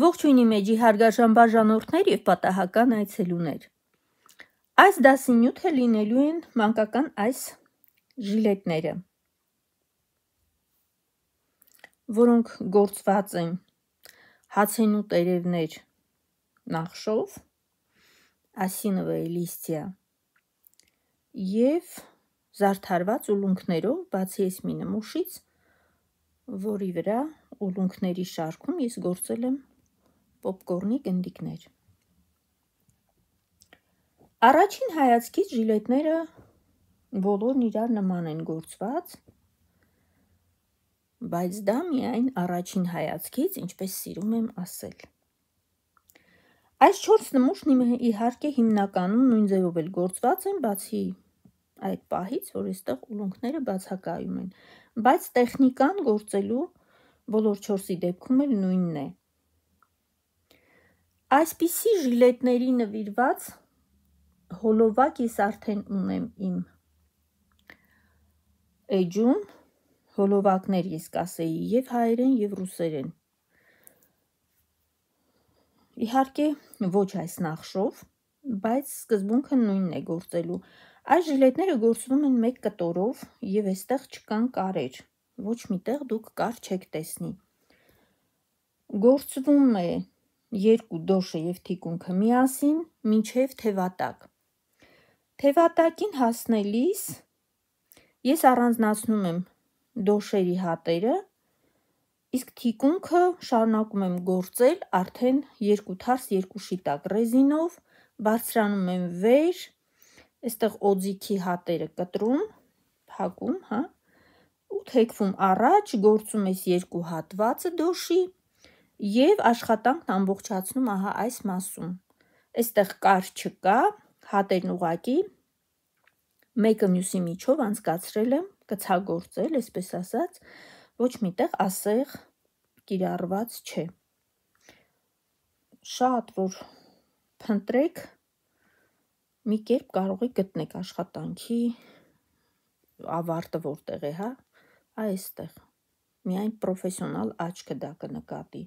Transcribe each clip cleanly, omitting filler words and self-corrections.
Ողջույն իմ էջի հարգարժան բաժանորդներ և պատահական այցելուներ։ Այս դասի նյութը լինելու են մանկական այս ժիլետները, որոնք գործված են հացենու տերևներ նախշով, ասիновое листья և զարդարված ուլունքներով, բացի այս մի նմուշից, որի վրա ուլունքների շարքում ես գործել եմ պոպկորնի գնդիկներ։ Առաջին հայացքից ժիլետները բոլորն իրար նման են գործված, բայց դա միայն առաջին հայացքից, ինչպես սիրում եմ ասել։ Այս 4 նմուշն իհարկե հիմնականում նույն ձևով էլ գործված են, բացի այդ պահից, որ այստեղ ուլունքները բացակայում են, բայց տեխնիկան գործելու բոլոր 4-ի դեպքում էլ նույնն է։ Այսպիսի ժիլետների նվիրված հոլովակ ես արդեն ունեմ իմ էջում, հոլովակներ ես կասեի և հայերեն և ռուսերեն։ Իհարկե ոչ այս նախշով, բայց սկզբունքը նույնն է գործելու։ Այս ժիլետները գործվում են 1 կտորով և այստեղ չկան կարեր, ոչ միտեղ դուք կար չեք տեսնի։ Գործվում է 2 դոշը և թիկունքը միասին մինչև թևատակ։ Թևատակին հասնելիս ես առանձնացնում եմ դոշերի հատերը, իսկ թիկունքը շարունակում եմ գործել արդեն 2 թարս 2 շիտակ ռեզինով, բարձրանում եմ վեր, այստեղ օձիքի հատերը կտրում, փակում, ու թեքվում առաջ, գործում ես 2 հատվածը դոշի և աշխատանքն ամբողջացնում ահա այս մասում։ Այստեղ կար չկա, հատերն ուղղակի մեկը մյուսի միջով անցկացրել եմ, կցագործել, այսպես ասած, ոչ միտեղ ասեղ կիրառված չէ։ Շատ որ փնտրեք, մի կերպ կարող եք գտնեք աշխատանքի ավարտը որտեղ է, այստեղ, միայն պրոֆեսիոնալ աչքը դա կնկատի։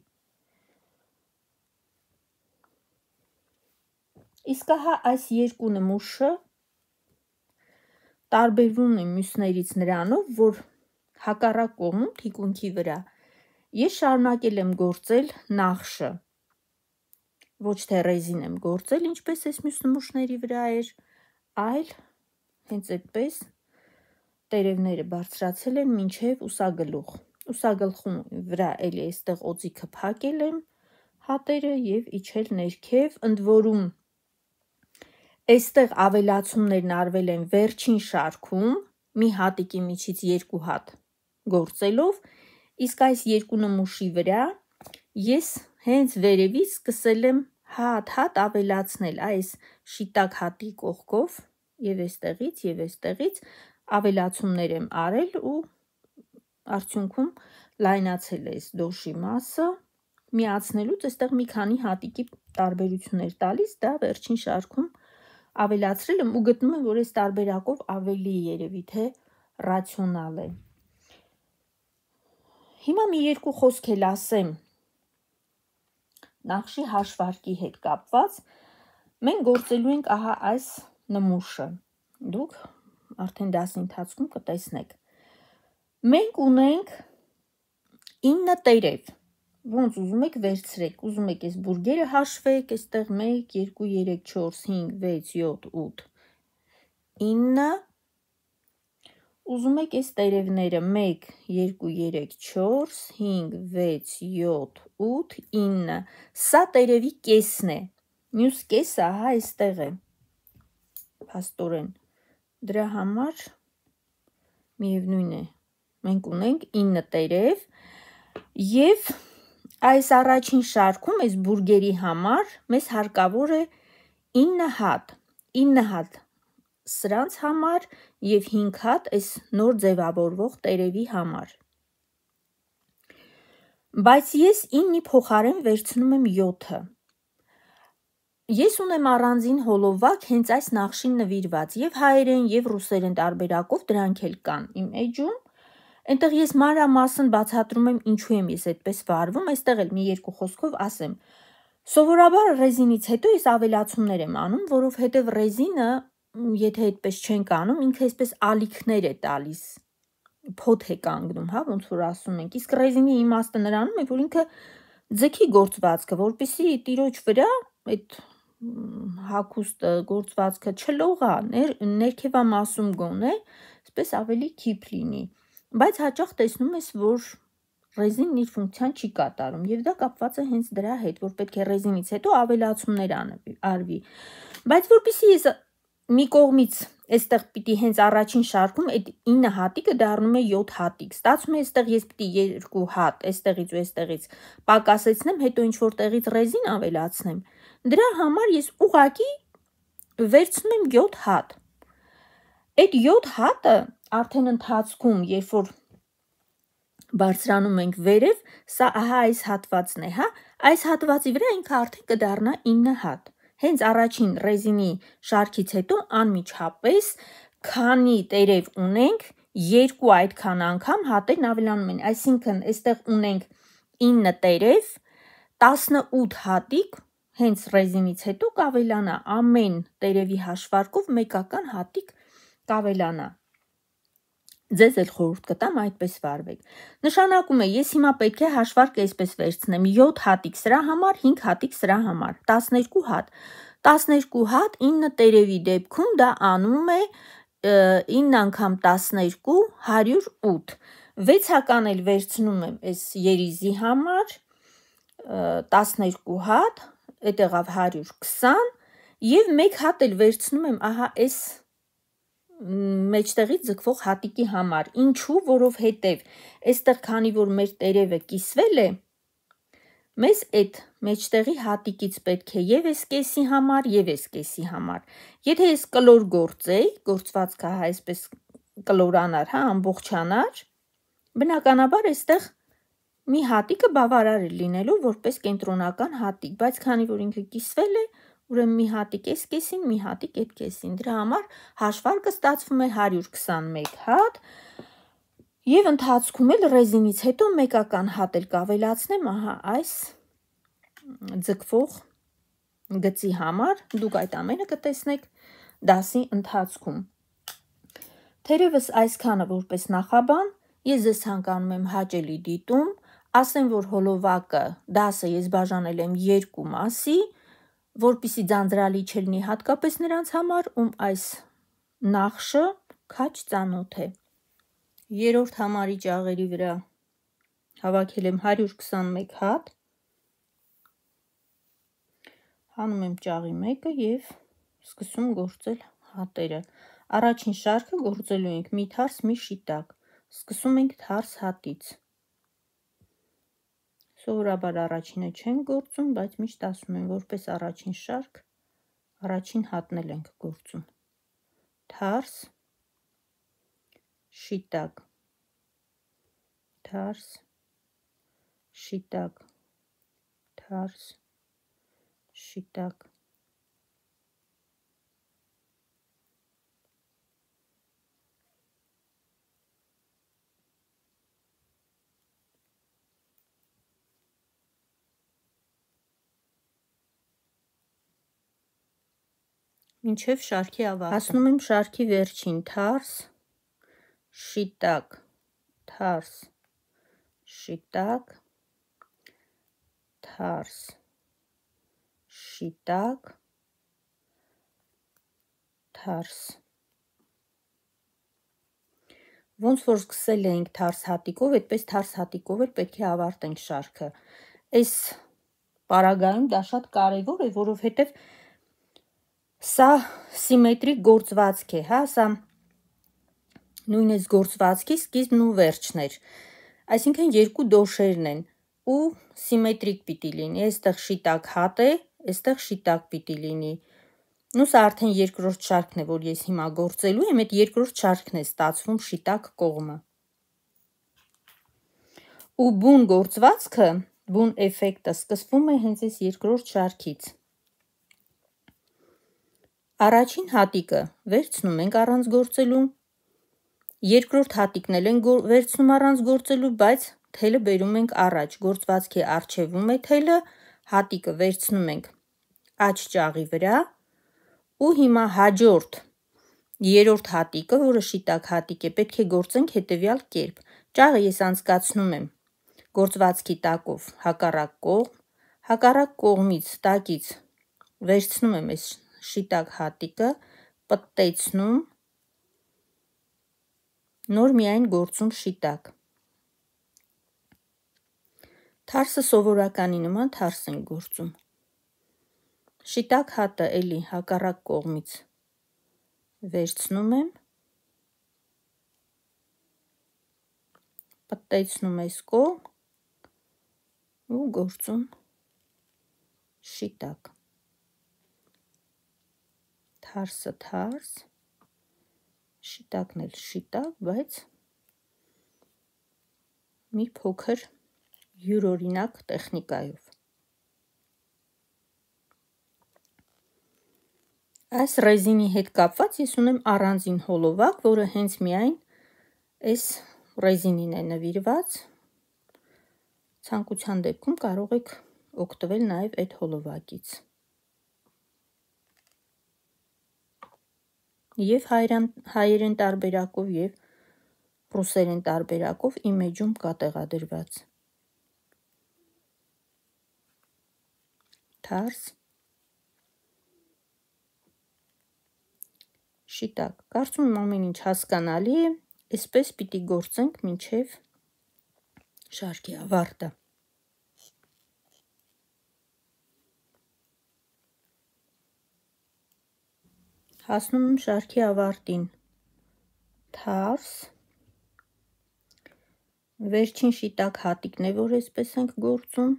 Իսկ ահա այս 2 նմուշը տարբերվում է մյուսներից նրանով, որ հակառակ կողմում թիկունքի վրա ես շարունակել եմ գործել նախշը, ոչ թե ռեզին եմ գործել, ինչպես այս մյուս նմուշների վրա էր, այլ հենց այդպես տերևները բարձրացել եմ մինչև ուսագլուխ։ Ուսագլխում վրա էլի այստեղ օձիքը փակել եմ հատերը և իջել ներքև, ընդ որում այստեղ ավելացումներն արվել են վերջին շարքում, մի հատիկի միջից 2 հատ գործելով, իսկ այս 2 նմուշի վրա ես հենց վերևից սկսել եմ հատ ավելացնել այս շիտակ հատի կողքով և այստեղից ավելացումներ եմ արել ու արդյունքում լայնացել է այս դոշի մասը, միացնելուց այստեղ մի քանի հատիկի տարբերություն էր տալիս, դա վերջին շարքում ավելացրել եմ ու գտնում եմ, որ այս տարբերակով ավելի երևի թե ռացիոնալ է։ Հիմա մի 2 խոսք էլ ասեմ նախշի հաշվարկի հետ կապված, մենք գործելու ենք ահա այս նմուշը, դուք արդեն դասի ընթացքում կտեսնեք։ Մենք ունենք 9 տերև, ոնց ուզում եք վերցրեք, ուզում եք այս բուրգերը հաշվեք, այստեղ 1, 2, 3, 4, 5, 6, 7, 8, 9, ուզում եք այս տերևները 1, 2, 3, 4, 5, 6, 7, 8, 9, սա տերևի կեսն է, մյուս կեսը ահա այստեղ է, փաստորեն, դրա համար միևնույն է, մենք ունենք 9 տերև և այս առաջին շարքում, այս բուրգերի համար, մեզ հարկավոր է 9 հատ սրանց համար և 5 հատ այս նոր ձևավորվող տերևի համար։ Բայց ես 9-ի փոխարեն վերցնում եմ 7-ը։ Ես ունեմ առանձին հոլովակ հենց այս նախշին նվիրված, և հայերեն և ռուսերեն տարբերակով դրանք էլ կան իմ էջում, Այնտեղ ես մանրամասն բացատրում եմ ինչու եմ ես այդպես վարվում, այստեղ էլ մի երկու խոսքով ասեմ։ Սովորաբար ռեզինից հետո ես ավելացումներ եմ անում, որովհետև ռեզինը, եթե այդպես չենք անում, ինքը այսպես ալիքներ է տալիս, փոթ է կանգնում, հա, ոնց որ ասում ենք։ Իսկ ռեզինի իմաստը նրանում է, որ ինքը ձգի գործվածքը, որպեսզի տիրոջ վրա այդ հագուստը, գործվածքը չլողա, ներքևամասում գոնե, այսպես ավելի քիփ լինի։ Բայց հաճախ տեսնում ես, որ ռեզինն իր ֆունկցիան չի կատարում, եւ դա կապված է հենց դրա հետ, որ պետք է ռեզինից հետո ավելացումներ արվի։ Բայց որpիսի ես մի կողմից այստեղ պիտի հենց առաջին շարքում այդ 9 հատիկը դառնում է 7 հատիկ։ Ստացվում է այստեղ ես պիտի 2 հատ, այստեղից ու այստեղից պակասեցնեմ, հետո ինչ որ տեղից ռեզին ավելացնեմ։ Դրա համար ես ուղղակի վերցնում եմ 7 հատ։ Այդ 7 հատը արդեն ընթացքում, երբ որ բարձրանում ենք վերև, սա ահա այս հատվածն է, հա, այս հատվածի վրա ինքը արդեն կդառնա 9 հատ։ Հենց առաջին ռեզինի շարքից հետո անմիջապես, քանի տերև ունենք, 2 այդքան անգամ հատերն ավելանում են, այսինքն այստեղ ունենք 9 տերև, 18 հատիկ, հենց ռեզինից հետո կավելանա, ամեն տերևի հաշվարկով մեկական հատիկ կավելանա։ Ձեզ էլ խորհուրդ կտամ այդպես վարվեք։ Նշանակում է, ես հիմա պետք է հաշվարկը այսպես վերցնեմ, 7 հատիկ սրա համար, 5 հատիկ սրա համար, 12 հատ։ 12 հատ 9 տերևի դեպքում դա անում է 9 անգամ 12, 108։ 6 հական էլ վերցնում եմ այս երիզի համար, 12 հատ, այդ եղավ 120, եւ 1 հատ էլ վերցնում եմ ահա այս մեջտեղից ձգվող հատիկի համար, ինչու, որովհետև այստեղ քանի որ մեր տերևը կիսվել է, մեզ այդ մեջտեղի հատիկից պետք է եւ այս կեսի համար, եւ այս կեսի համար։ Եթե ես կլոր գործեի, գործվածքը հա այսպես կլորանար, հա, ամբողջանար, բնականաբար այստեղ մի հատիկը բավարար է լինելու որպես կենտրոնական հատիկ, բայց քանի որ ինքը կիսվել է, ուրեմն մի հատիկ այս կեսին, մի հատիկ այդ կեսին։ Դրա համար հաշվարկը ստացվում է 121 հատ, եւ ընթացքում էլ ռեզինից հետո մեկական հատ էլ կավելացնեմ, ահա այս ձգվող գծի համար, դուք այդ ամենը կտեսնեք դասի ընթացքում։ Թերևս այսքանը որպես նախաբան, ես ձեզ ցանկանում եմ հաճելի դիտում, ասեմ, որ հոլովակը դասը ես բաժանել եմ 2 մասի, որպեսզի ձանձրալի չլինի հատկապես նրանց համար, ում այս նախշը քաչ ծանոթ է։ Երրորդ համարի ճաղերի վրա հավաքել եմ 121 հատ, հանում եմ ճաղի մեկը եւ սկսում գործել հատերը։ Առաջին շարքը գործելու ենք մի թարս, մի շիտակ, սկսում ենք թարս հատից։ Սովորաբար առաջինը չենք գործում, բայց միշտ ասում եմ, որպես առաջին շարք, առաջին հատն էլ ենք գործում։ Թարս, շիտակ, թարս, շիտակ, թարս, շիտակ։ Մինչև շարքի ավարտը։ Հասնում եմ շարքի վերջին, թարս, շիտակ, թարս, շիտակ, թարս, շիտակ, թարս։ Ոնց որ սկսել էինք թարս հատիկով, այդպես թարս հատիկով էլ պետք է ավարտենք շարքը։ Այս պարագայում դա շատ կարևոր է, որովհետև սա սիմետրիկ գործվածք է, հա, սա նույն այս գործվածքի սկիզբն ու վերջն էր։ Այսինքն երկու դոշերն են ու սիմետրիկ պիտի լինի։ Այստեղ շիտակ հատ է, այստեղ շիտակ պիտի լինի։ Ու սա արդեն երկրորդ շարքն է, որ ես հիմա գործելու եմ, այդ երկրորդ շարքն է ստացվում շիտակ կողմը։ Ու բուն գործվածքը, բուն էֆեկտը սկսվում է հենց այս երկրորդ շարքից։ Առաջին հատիկը վերցնում ենք առանց գործելու, Երկրորդ հատիկն էլ ենք վերցնում առանց գործելու, բայց թելը բերում ենք առաջ, գործվածքի առջևում է թելը, հատիկը վերցնում ենք աջ ճաղի վրա ու հիմա հաջորդ երրորդ հատիկը, որը շիտակ հատիկ է, պետք է գործենք հետևյալ կերպ։ Ճաղը ես անցկացնում եմ գործվածքի տակով հակառակ կողմից տակից վերցնում եմ այս շիտակ հատիկը, պտտեցնում, նոր միայն գործում շիտակ։ Թարսը սովորականի նման թարս ենք գործում։ Շիտակ հատը էլի հակառակ կողմից վերցնում եմ, պտտեցնում այս կողմ ու գործում շիտակ։ Թարսը թարս, շիտակն էլ շիտակ, բայց մի փոքր յուրօրինակ տեխնիկայով։ Այս ռեզինի հետ կապված ես ունեմ առանձին հոլովակ, որը հենց միայն այս ռեզինին է նվիրված։ Ցանկության դեպքում կարող եք օգտվել նաև այդ հոլովակից։ Եվ հայերեն տարբերակով և ռուսերեն տարբերակով իմ էջում կա տեղադրված։ Թարս, շիտակ։ Կարծում եմ ամեն ինչ հասկանալի է, այսպես պիտի գործենք մինչև շարքի ավարտը։ Հասնում եմ շարքի ավարտին։ Թարս, վերջին շիտակ հատիկն է, որ այսպես ենք գործում։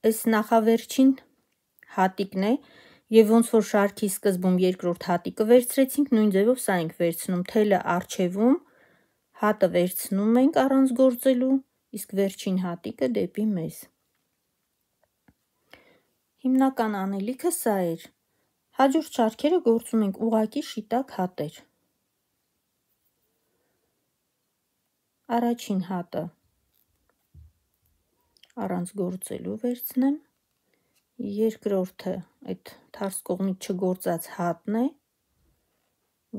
Այս նախավերջին հատիկն է և ոնց որ շարքի սկզբում երկրորդ հատիկը վերցրեցինք, նույն ձևով սա ենք վերցնում, թելը առջևում, հատը վերցնում ենք առանց գործելու, իսկ վերջին հատիկը դեպի մեզ։ Հիմնական անելիքը սա էր։ Հաջորդ շարքերը գործում ենք ուղղակի շիտակ հատեր։ Առաջին հատը առանց գործելու վերցնեմ, երկրորդը այդ թարս կողմից չգործած հատն է,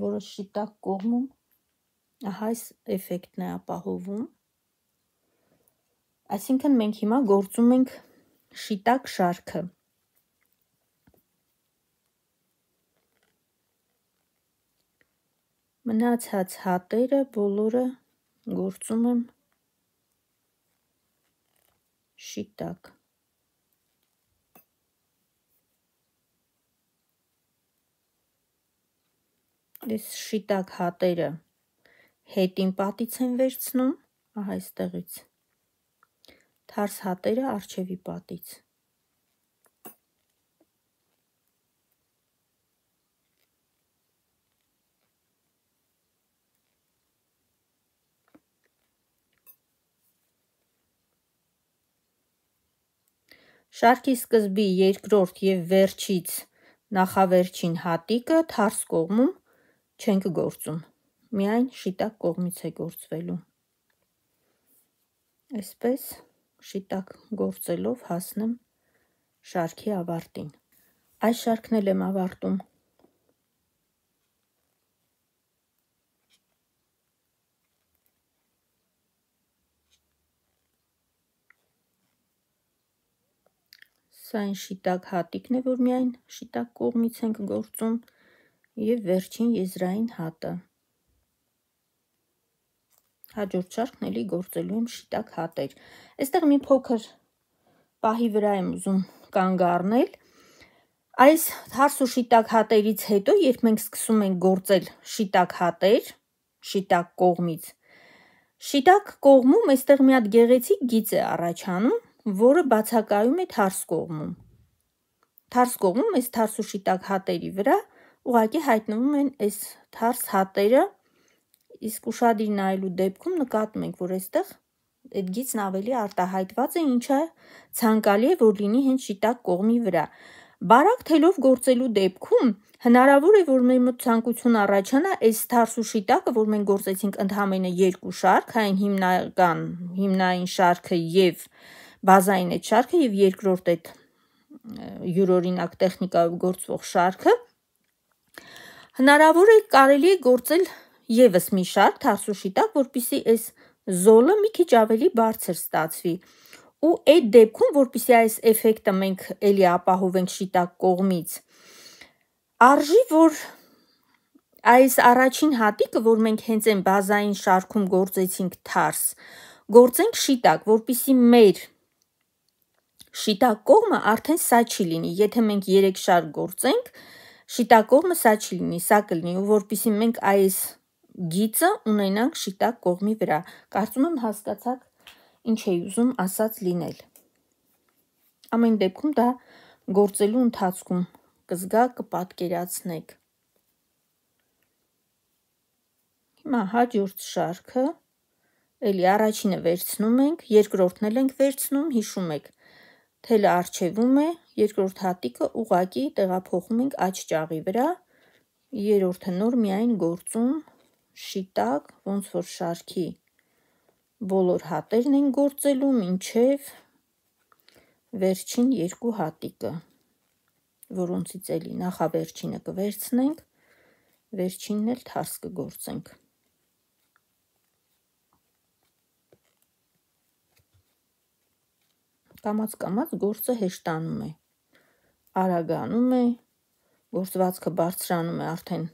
որը շիտակ կողմում այս էֆեկտն է ապահովում։ Այսինքն մենք հիմա գործում ենք շիտակ շարքը։ Մնացած հատերը բոլորը գործում եմ շիտակ։ Այս շիտակ հատերը հետին պատից են վերցնում, ահա այստեղից, թարս հատերը առջևի պատից։ Շարքի սկզբի երկրորդ և վերջից նախավերջին հատիկը թարս կողմում չենք գործում, միայն շիտակ կողմից է գործվելու։ Այսպես շիտակ գործելով հասնեմ շարքի ավարտին։ Այս շարքն էլ եմ ավարտում։ Սա այն շիտակ հատիկն է, որ միայն շիտակ կողմից ենք գործում և վերջին եզրային հատը։ Հաջորդ շարքն էլի գործելու եմ շիտակ հատեր։ Այստեղ մի փոքր պահի վրա եմ ուզում կանգ առնել։ Այս թարս ու շիտակ հատերից հետո, երբ մենք սկսում ենք գործել շիտակ հատեր, շիտակ կողմից, շիտակ կողմում այստեղ մի հատ գեղեցիկ գիծ է առաջանում, որը բացակայում է թարս կողմում։ Թարս կողմում այս թարս ու շիտակ հատերի վրա ուղղակի հայտնվում են այս թարս հատերը Իսկ ուշադիր նայելու դեպքում նկատում ենք, որ այստեղ այդ գիծն ավելի արտահայտված է, ինչը ցանկալի է, որ լինի հենց շիտակ կողմի վրա։ Բարակ թելով գործելու դեպքում հնարավոր է, որ մեր մոտ ցանկություն առաջանա այս թարս ու շիտակը, որ մենք գործեցինք ընդհանրապես երկու շարք, այն հիմնային շարքը եւ բազային այդ շարքը եւ երկրորդ այդ յուրօրինակ տեխնիկայով գործվող շարքը, հնարավոր է կարելի է գործել եւս մի շարք թարս ու շիտակ, որպեսզի այս զոլը մի քիչ ավելի բարձր ստացվի։ Ու այդ դեպքում, որպեսզի այս էֆեկտը մենք էլի ապահովենք շիտակ կողմից, արժի, որ այս առաջին հատիկը, որ մենք հենց այն բազային շարքում գործեցինք թարս, գործենք շիտակ, որպեսզի մեր շիտակ կողմը արդեն սա չի լինի։ Եթե մենք 3 շարք գործենք, շիտակ կողմը սա չի լինի, սա կլինի, ու որպեսզի մենք այս գիծը ունենանք շիտակ կողմի վրա։ Կարծում եմ հասկացաք ինչ էի ուզում ասած լինել։ Ամեն դեպքում դա գործելու ընթացքում կզգաք, կպատկերացնեք։ Հիմա հաջորդ շարքը, էլի առաջինը վերցնում ենք, երկրորդն էլ ենք վերցնում, հիշում եք, թելը առջևում է, երկրորդ հատիկը ուղղակի տեղափոխում ենք աջ ճաղի վրա, երրորդը նոր միայն գործում շիտակ, ոնց որ շարքի բոլոր հատերն են գործելու մինչև վերջին երկու հատիկը, որոնցից էլի նախավերջինը կվերցնենք, վերջինն էլ թարս կգործենք։ Կամաց գործը հեշտանում է, արագանում է, գործվածքը բարձրանում է, արդեն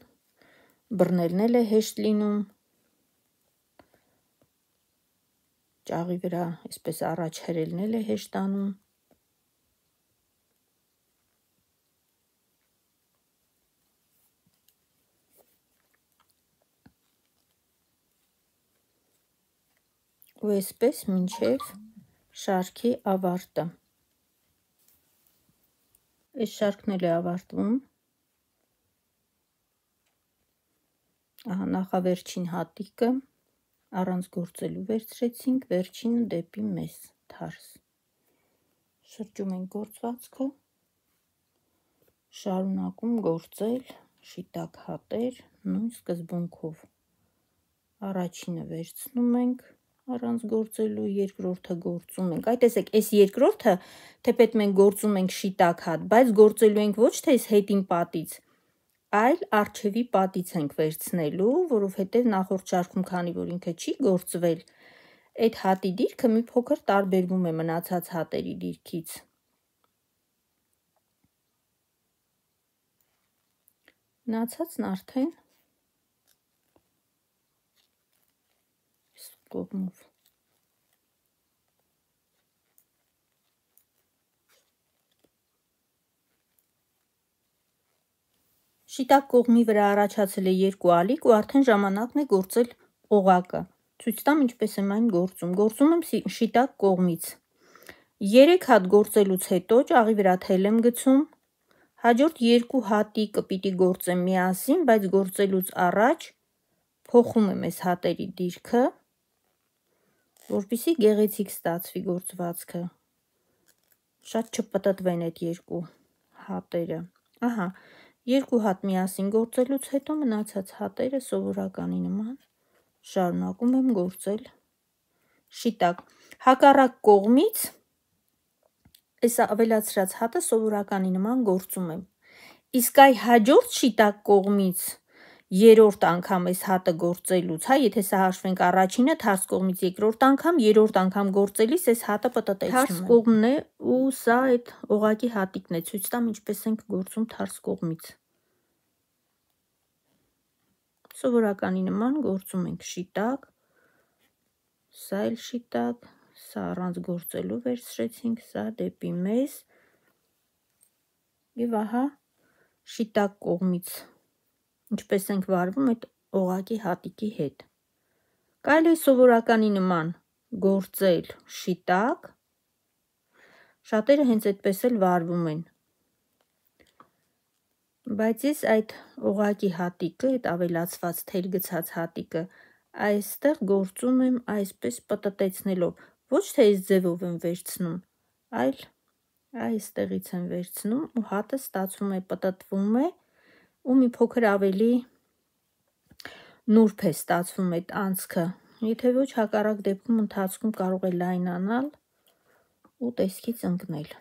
բռնելն էլ է հեշտ լինում, ճաղի վրա այսպես առաջ հրելն էլ է հեշտանում։ Ու այսպես մինչև շարքի ավարտը։ Այս շարքն էլ է ավարտվում։ Ահա նախավերջին հատիկը առանց գործելու վերցրեցինք, վերջինը դեպի մեզ թարս։ Շրջում ենք գործվածքը, շարունակում գործել շիտակ հատեր նույն սկզբունքով։ Առաջինը վերցնում ենք առանց գործելու, երկրորդը գործում ենք։ Այ տեսեք, այս երկրորդը, թեպետ մենք գործում ենք շիտակ հատ, բայց գործելու ենք ոչ թե այս հետին պատից, այլ առջևի պատից ենք վերցնելու, որովհետև նախորդ շարքում, քանի որ ինքը չի գործվել, այդ հատի դիրքը մի փոքր տարբերվում է մնացած հատերի դիրքից։ Մնացածն արդեն կողմով։ Շիտակ կողմի վրա առաջացել է երկու ալիք ու արդեն ժամանակն է գործել օղակը։ Ցույց տամ ինչպես եմ այն գործում։ Գործում եմ շիտակ կողմից։ 3 հատ գործելուց հետո ճաղի վրա թել եմ գցում։ Հաջորդ երկու հատիկը պիտի գործեմ միասին, բայց գործելուց առաջ փոխում եմ այս հատերի դիրքը, որպեսզի գեղեցիկ ստացվի գործվածքը։ Շատ չպտտվեն այդ երկու հատերը։ Ահա, երկու հատ միասին գործելուց հետո մնացած հատերը սովորականի նման շարունակում եմ գործել շիտակ։ Հակառակ կողմից այս ավելացրած հատը սովորականի նման գործում եմ։ Իսկ այ հաջորդ շիտակ կողմից երրորդ անգամ այս հատը գործելուց, եթե սա հաշվենք առաջինը, թարս կողմից երկրորդ անգամ, երրորդ անգամ գործելիս այս հատը պտտեցնում եմ։ Թարս կողմն է ու սա այդ օղակի հատիկն է, ցույց տամ ինչպես ենք գործում թարս կողմից։ Սովորականի նման գործում ենք շիտակ, սա էլ շիտակ, սա առանց գործելու վերցրեցինք, սա դեպի մեզ և ահա շիտակ կողմից ինչպես ենք վարվում այդ օղակի հատիկի հետ։ Կարելի է սովորականի նման գործել շիտակ, շատերը հենց այդպես էլ վարվում են, բայց ես այդ օղակի հատիկը, այդ ավելացված թել գցած հատիկը այստեղ գործում եմ այսպես պտտեցնելով, ոչ թե այս ձևով եմ վերցնում, այլ այստեղից եմ վերցնում ու հատը ստացվում է պտտվում է ու մի փոքր ավելի նուրբ է ստացվում այդ անցքը, եթե ոչ հակառակ դեպքում ընթացքում կարող է լայնանալ ու տեսքից ընկնել։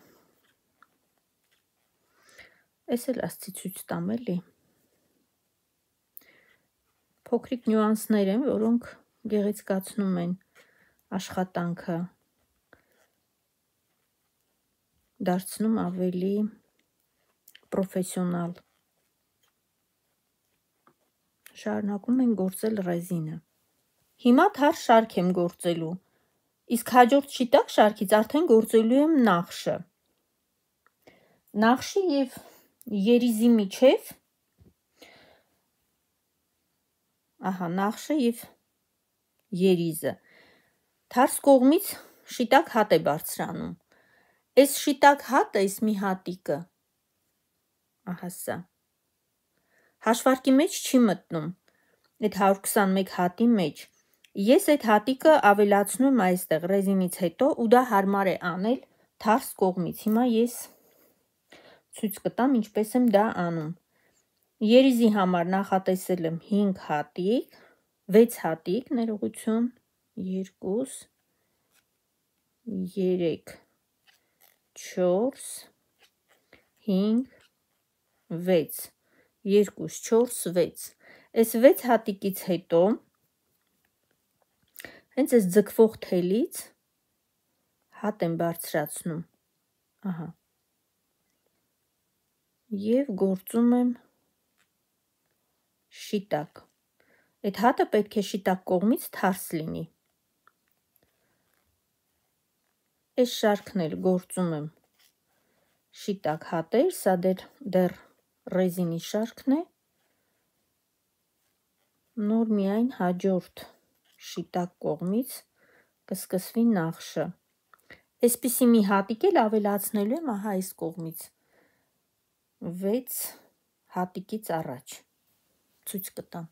Էս էլ ասցի ցույց տամ էլի։ Փոքրիկ նյուանսներ են, որոնք գեղեցկացնում են աշխատանքը, դարձնում ավելի պրոֆեսիոնալ։ Շարունակում ենք գործել ռեզինը։ Հիմա թարս շարք եմ գործելու, իսկ հաջորդ շիտակ շարքից արդեն գործելու եմ նախշը։ Նախշի և երիզի միջև, նախշը և երիզը, թարս կողմից շիտակ հատ է բարձրանում։ Այս շիտակ հատը, այս մի հատիկը, սա, հաշվարկի մեջ չի մտնում, այդ 121 հատի մեջ։ Ես այդ հատիկը ավելացնում եմ այստեղ ռեզինից հետո ու դա հարմար է անել թարս կողմից։ Հիմա ես ցույց կտամ ինչպես եմ դա անում։ Երիզի համար նախատեսել եմ 5 հատիկ, 6 հատիկ, ներողություն, 2, 3, 4, 5, 6, 2, 4, 6, այս 6 հատիկից հետո հենց այս ձգվող թելից հատ եմ բարձրացնում, և գործում եմ շիտակ, այդ հատը պետք է շիտակ կողմից թարս լինի, այս շարքն էլ գործում եմ շիտակ հատեր, սա դեռ ռեզինի շարքն է, նոր միայն հաջորդ շիտակ կողմից կսկսվի նախշը։ Այսպիսի մի հատիկ էլ ավելացնելու եմ այս կողմից 6 հատիկից առաջ, ցույց կտամ։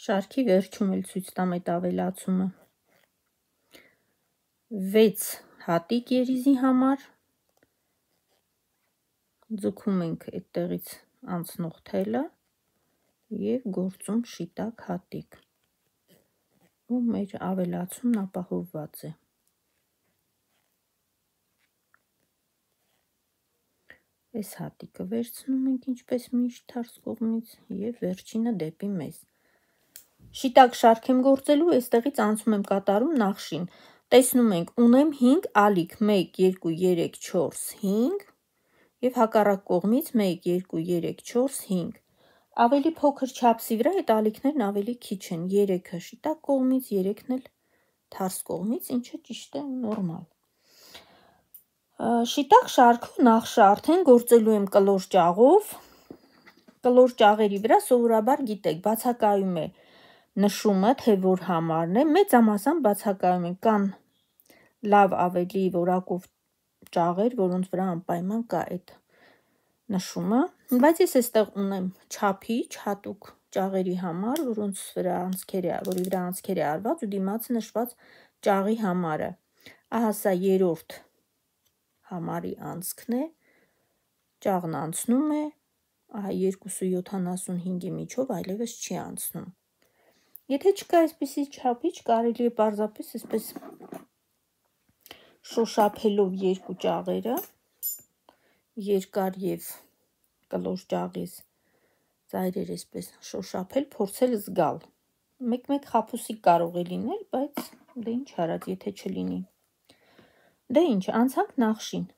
Շարքի վերջում էլ ցույց տամ այդ ավելացումը։ 6 հատիկ երիզի համար, ձգում ենք այդտեղից անցնող թելը և գործում շիտակ հատիկ, ու մեր ավելացումն ապահովված է։ Այս հատիկը վերցնում ենք ինչպես միշտ թարս կողմից և վերջինը դեպի մեզ։ Շիտակ շարք եմ գործելու, այստեղից անցում եմ կատարում նախշին։ Տեսնում ենք, ունեմ 5 ալիք, 1, 2, 3, 4, 5 և հակառակ կողմից 1, 2, 3, 4, 5։ Ավելի փոքր չափսի վրա այդ ալիքներն ավելի քիչ են, 3-ը շիտակ կողմից, 3-ն էլ թարս կողմից, ինչը ճիշտ է նորմալ։ Շիտակ շարքով նախշը արդեն գործելու եմ կլոր ճաղով։ Կլոր ճաղերի վրա սովորաբար գիտեք, բացակայում է նշումը, թե որ համարն է, մեծամասամբ բացակայում են, կան լավ ավելի որակով ճաղեր, որոնց վրա անպայման կա այդ նշումը, բայց ես այստեղ ունեմ չափիչ հատուկ ճաղերի համար, որի վրա անցքեր է արված ու դիմացը նշված ճաղի համարը։ Ահա սա երրորդ համարի անցքն է, ճաղն անցնում է, ահա 2.75-ի միջով այլևս չի անցնում։ Եթե չկա այսպիսի չափիչ, կարելի է պարզապես այսպես շոշափելով երկու ճաղերը, երկար և կլոր ճաղից ծայրեր այսպես շոշափել, փորձել զգալ։ Մեկ-մեկ խաբուսիկ կարող է լինել, բայց դե ինչ արած, եթե չլինի։ Դե ինչ, անցանք նախշին։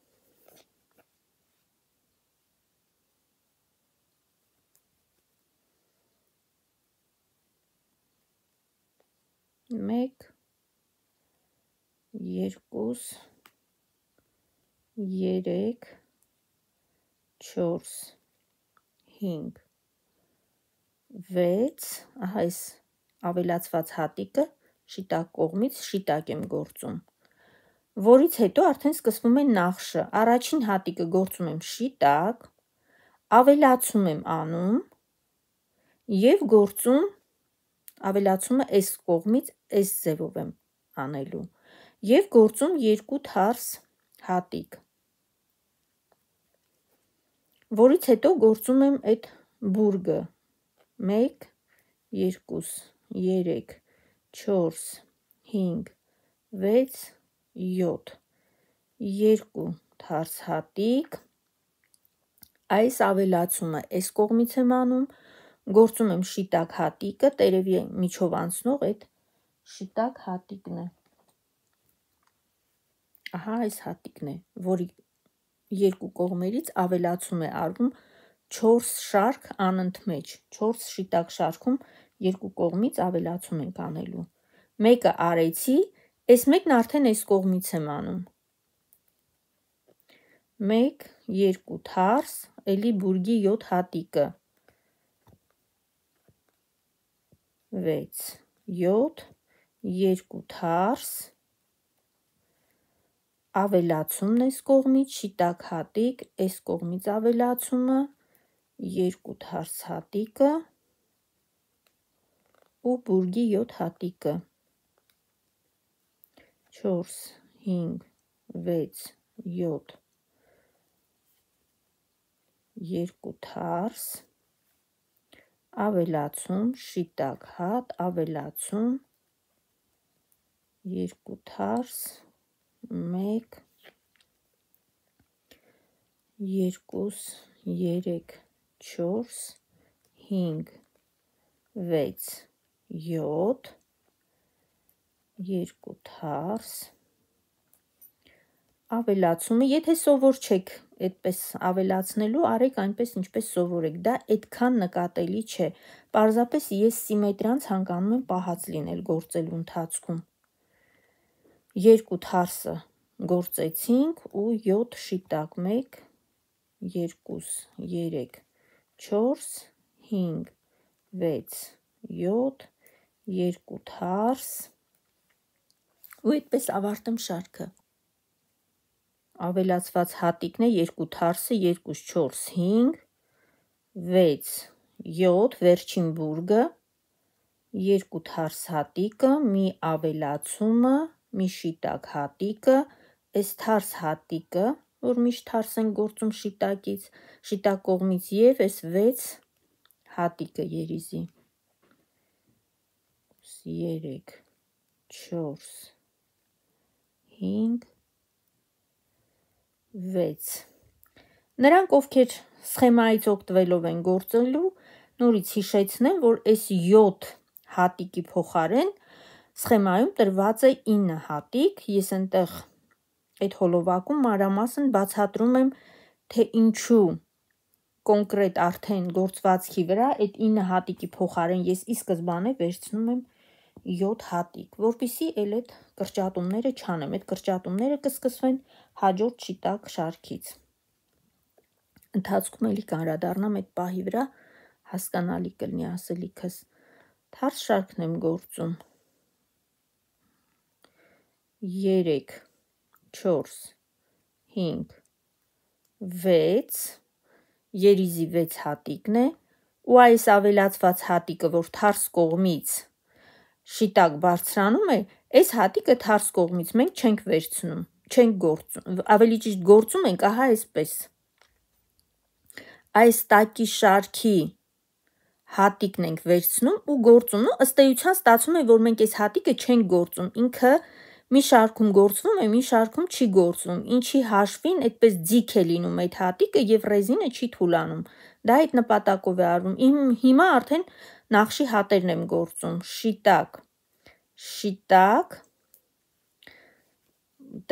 Մեկ, երկուս, երեք, 4, 5, 6, ահա այս ավելացված հատիկը շիտակ կողմից շիտակ եմ գործում, որից հետո արդեն սկսվում է նախշը։ Առաջին հատիկը գործում եմ շիտակ, ավելացում եմ անում և գործում ավելացումը այս կողմից այս ձևով եմ անելու և գործում 2 թարս հատիկ, որից հետո գործում եմ այդ բուրգը 1, 2, 3, 4, 5, 6, 7, 2 թարս հատիկ, այս ավելացումը այս կողմից եմ անում, գործում եմ շիտակ հատիկը, տերևի միջով անցնող այդ շիտակ հատիկն է, ահա այս հատիկն է, որի երկու կողմերից ավելացում է արվում 4 շարք անընդմեջ, 4 շիտակ շարքում երկու կողմից ավելացում ենք անելու, մեկը արեցի, այս մեկն արդեն այս կողմից եմ անում, 1, 2 թարս, էլի բուրգի 7 հատիկը, 6, 7, 2 թարս, ավելացումն այս կողմից, շիտակ հատիկ, այս կողմից ավելացումը, 2 թարս հատիկը ու բուրգի 7 հատիկը, 4, 5, 6, 7, 2 թարս, ավելացում, շիտակ հատ, ավելացում, 2 թարս, 1, 2, 3, 4, 5, 6, 7, 2 թարս, ավելացումը, եթե սովոր չեք այդպես ավելացնելու, արեք այնպես ինչպես սովոր եք, դա այդքան նկատելի չէ, պարզապես ես սիմետրիան ցանկանում եմ պահած լինել գործելու ընթացքում, 2 թարսը գործեցինք ու 7 շիտակ, 1, 2, 3, 4, 5, 6, 7, 2 թարս ու այդպես ավարտեմ շարքը, ավելացված հատիկն է 2 թարսը, 2, 4, 5, 6, 7, վերջին բուրգը, 2 թարս հատիկը, մի ավելացումը, մի շիտակ հատիկը, այս թարս հատիկը, որ միշտ թարս են գործում շիտակից, շիտակ կողմից և այս 6 հատիկը երիզի, 3, 4, 5, 6, նրանք ովքեր սխեմայից օգտվելով են գործելու, նորից հիշեցնեմ, որ այս 7 հատիկի փոխարեն սխեմայում տրված է 9 հատիկ, ես այնտեղ այդ հոլովակում մանրամասն բացատրում եմ, թե ինչու կոնկրետ արդեն գործվածքի վրա այդ 9 հատիկի փոխարեն ես ի սկզբանե վերցնում եմ 7 հատիկ, որպեսզի էլ այդ կրճատումները չանեմ, այդ կրճատումները կսկսվեն հաջորդ շիտակ շարքից, ընթացքում էլի կանրադառնամ այդ պահի վրա, հասկանալի կլինի ասելիքս, թարս շարքն եմ գործում, 3, 4, 5, 6, երիզի 6 հատիկն է ու այս ավելացված հատիկը, որ թարս կողմից շիտակ բարձրանում է, այս հատիկը թարս կողմից մենք չենք վերցնում, չենք գործում, ավելի ճիշտ գործում ենք, ահա այսպես, այս տակի շարքի հատիկն ենք վերցնում ու գործում, ըստ էության ստացվում է, որ մենք այս հատիկը չենք գործում, ինքը մի շարքում գործվում է, մի շարքում չի գործվում, ինչի հաշվին այդպես ձիգ է լինում այդ հատիկը և ռեզինը չի թուլանում, դա այդ նպատակով է արվում, հիմա արդեն նախշի հատերն եմ գործում, շիտակ, շիտակ,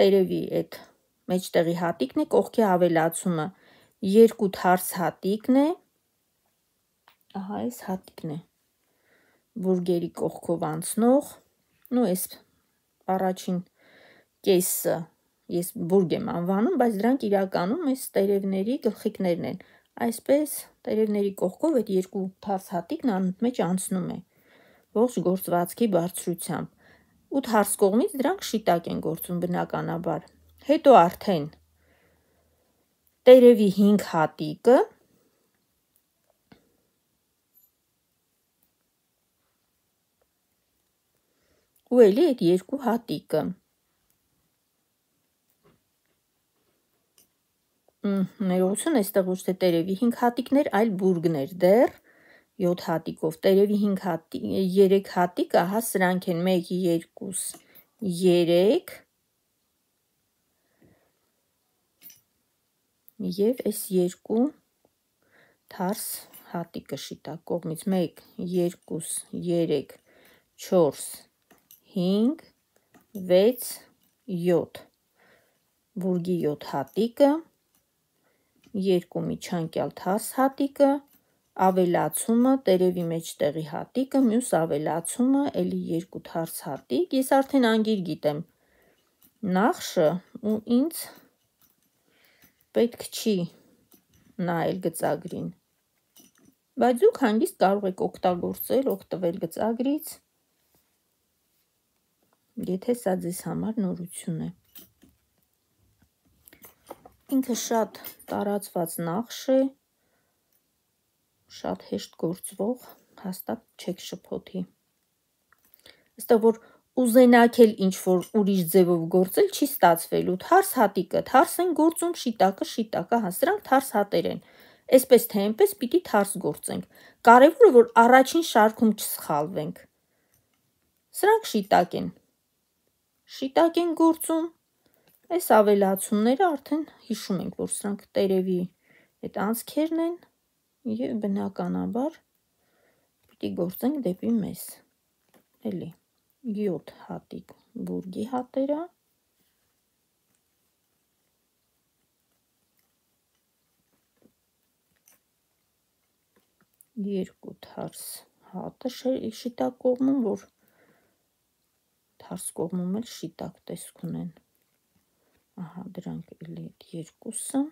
տերևի այդ մեջտեղի հատիկն է, կողքի ավելացումը, 2 թարս հատիկն է, ահա այս հատիկն է, բուրգերի կողքով անցնող, ու այս առաջին կեսը ես բուրգ եմ անվանում, բայց դրանք իրականում այս տերևների գլխիկներն են, այսպես տերևների կողքով այդ 2 թարս հատիկն անընդմեջ անցնում է, ողջ գործվածքի բարձրությամբ ու թարս կողմից դրանք շիտակ են գործում բնականաբար, հետո արդեն տերևի 5 հատիկը, ու էլի այդ երկու հատիկը։ Ներողություն, այստեղ ոչ թե տերևի 5 հատիկներ, այլ բուրգներ դեռ 7 հատիկով։ Տերևի 3 հատիկը, ահա սրանք են 1, 2, 3 և այս երկու թարս հատիկը շիտակ կողմից 1, 2, 3, 4, 5, 6, 7 բուրգի 7 հատիկը, երկու միջանկյալ թարս հատիկը, ավելացումը տերևի մեջտեղի հատիկը, մյուս ավելացումը էլի երկու թարս հատիկ։ Ես արդեն անգիր գիտեմ նախշը ու ինձ պետք չի նայել գծագրին, բայց դուք հանգիստ կարող եք օգտվել գծագրից, եթե սա ձեզ համար նորություն է։ Ինքը շատ տարածված նախշ է, շատ հեշտ գործվող, հաստատ չեք շփոթի։ Այստեղ որ ուզենաք էլ ինչ-որ ուրիշ ձևով գործել, չի ստացվելու։ Թարս հատիկը թարս են գործում, շիտակը, հա, սրանք թարս հատեր են։ Այսպես թե այնպես պիտի թարս գործենք։ Կարևորը որ առաջին շարքում չսխալվենք։ Սրանք շիտակ են գործում։ Այս ավելացումները արդեն հիշում ենք, որ սրանք տերևի այդ անցքերն են և բնականաբար պիտի գործենք դեպի մեզ։ Էլի 7 հատիկ բուրգի հատերա, երկու թարս հատը շիտակ կողմում, որ թարս կողմում էլ շիտակ տեսք ունեն։ Ահա դրանք էլի այդ երկուսը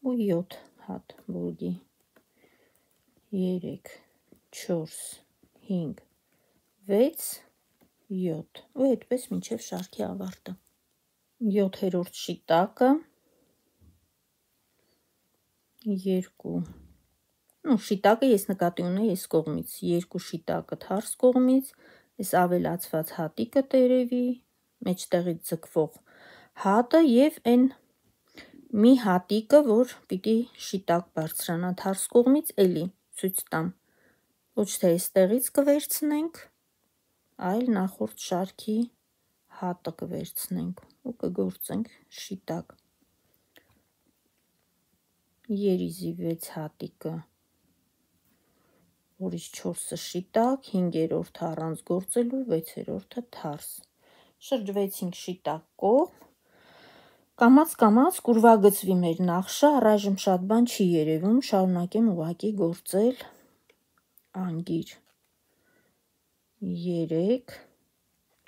ու 7 հատ բուրգի 3, 4, 5, 6, 7 ու այդպես մինչև շարքի ավարտը։ 7-րդ շիտակը, շիտակը ես նկատի ունեի այս կողմից, երկու շիտակը թարս կողմից, այս ավելացված հատիկը տերևի, մեջտեղից ձգվող հատը և այն մի հատիկը, որ պիտի շիտակ բարձրանա թարս կողմից, էլի ցույց տամ, ոչ թե այստեղից կվերցնենք, այլ նախորդ շարքի հատը կվերցնենք ու կգործենք շիտակ։ Երիզի 6 հատիկը, որից 4-ը շիտակ, 5-րդը առանց գործելու, 6-րդը թարս։ Շրջվեցինք շիտակ կողմ, կամաց կուրվագծվի մեր նախշը, առայժմ շատ բան չի երևում, շարունակեմ ուղղակի գործել անգիր։ 3,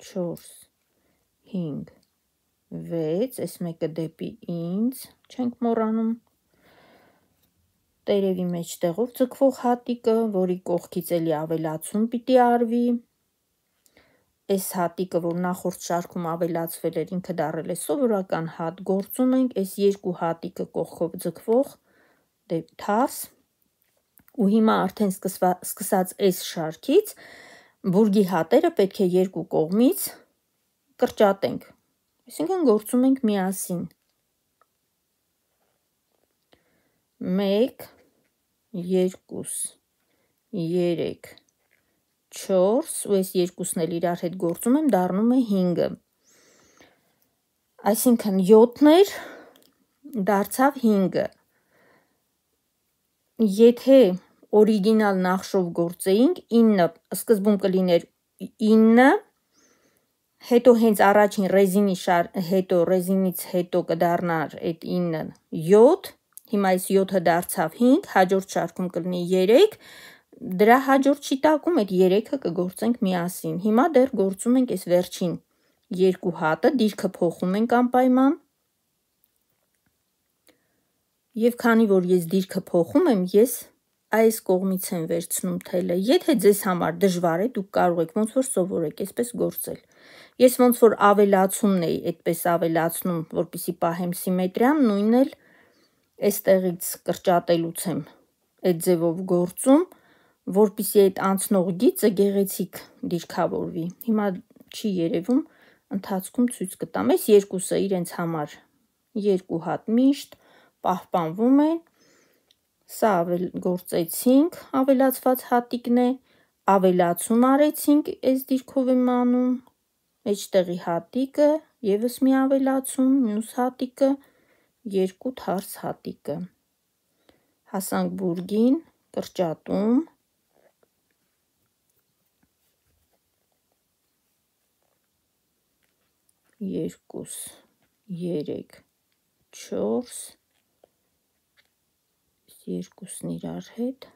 4, 5, 6, այս մեկը դեպի ինձ, չենք մոռանում, տերևի մեջտեղով ձգվող հատիկը, որի կողքից էլի ավելացում պիտի արվի, այս հատիկը, որ նախորդ շարքում ավելացվել էր, ինքը դառել է սովորական հատ, գործում ենք, այս երկու հատիկը կողքով ձգվող թարս, ու հիմա արդեն սկսած այս շարքից բուրգի հատերը պետք է երկու կողմից կրճատենք, այսինքն գործում ենք միասին։ 1, 2, 3, 4 ու այս երկուսն էլ իրար հետ գործում եմ, դառնում է 5-ը։ Այսինքն 7-ն էր, դարձավ 5-ը։ Եթե օրիգինալ նախշով գործեինք, 9 սկզբում կլիներ 9, հետո հենց առաջին ռեզինից հետո կդառնար այդ 9-ը 7, հիմա այս 7-ը դարձավ 5, հաջորդ շարքում կլինի 3, դրա հաջորդ շիտակում այդ 3-ը կգործենք միասին։ Հիմա դեռ գործում ենք այս վերջին երկու հատը, դիրքը փոխում ենք անպայման։ Եվ քանի որ ես դիրքը փոխում եմ, ես այս կողմից եմ վերցնում թելը։ Եթե ձեզ համար դժվար է, դուք կարող եք ոնց որ սովորեք այսպես գործել։ Ես ոնց որ ավելացումն էի այդպես ավելացնում, որպեսզի պահեմ սիմետրիան, նույնն էլ այստեղից կրճատելուց եմ այդ ձևով գործում, որպեսզի այդ անցնող գիծը գեղեցիկ դիրքավորվի։ Հիմա չի երևում, ընթացքում ցույց կտամ։ Այս երկուսը իրենց համար երկու հատ միշտ պահպանվում են։ Սա գործեցինք, ավելացված հատիկն է, ավելացում արեցինք, այս դիրքով եմ անում, մեջտեղի հատիկը, ևս մի ավելացում, մյուս հատիկը, երկու թարս հատիկը։ Հասանք բուրգին, կրճատում, 2, 3, 4, երկուսն իրար հետ,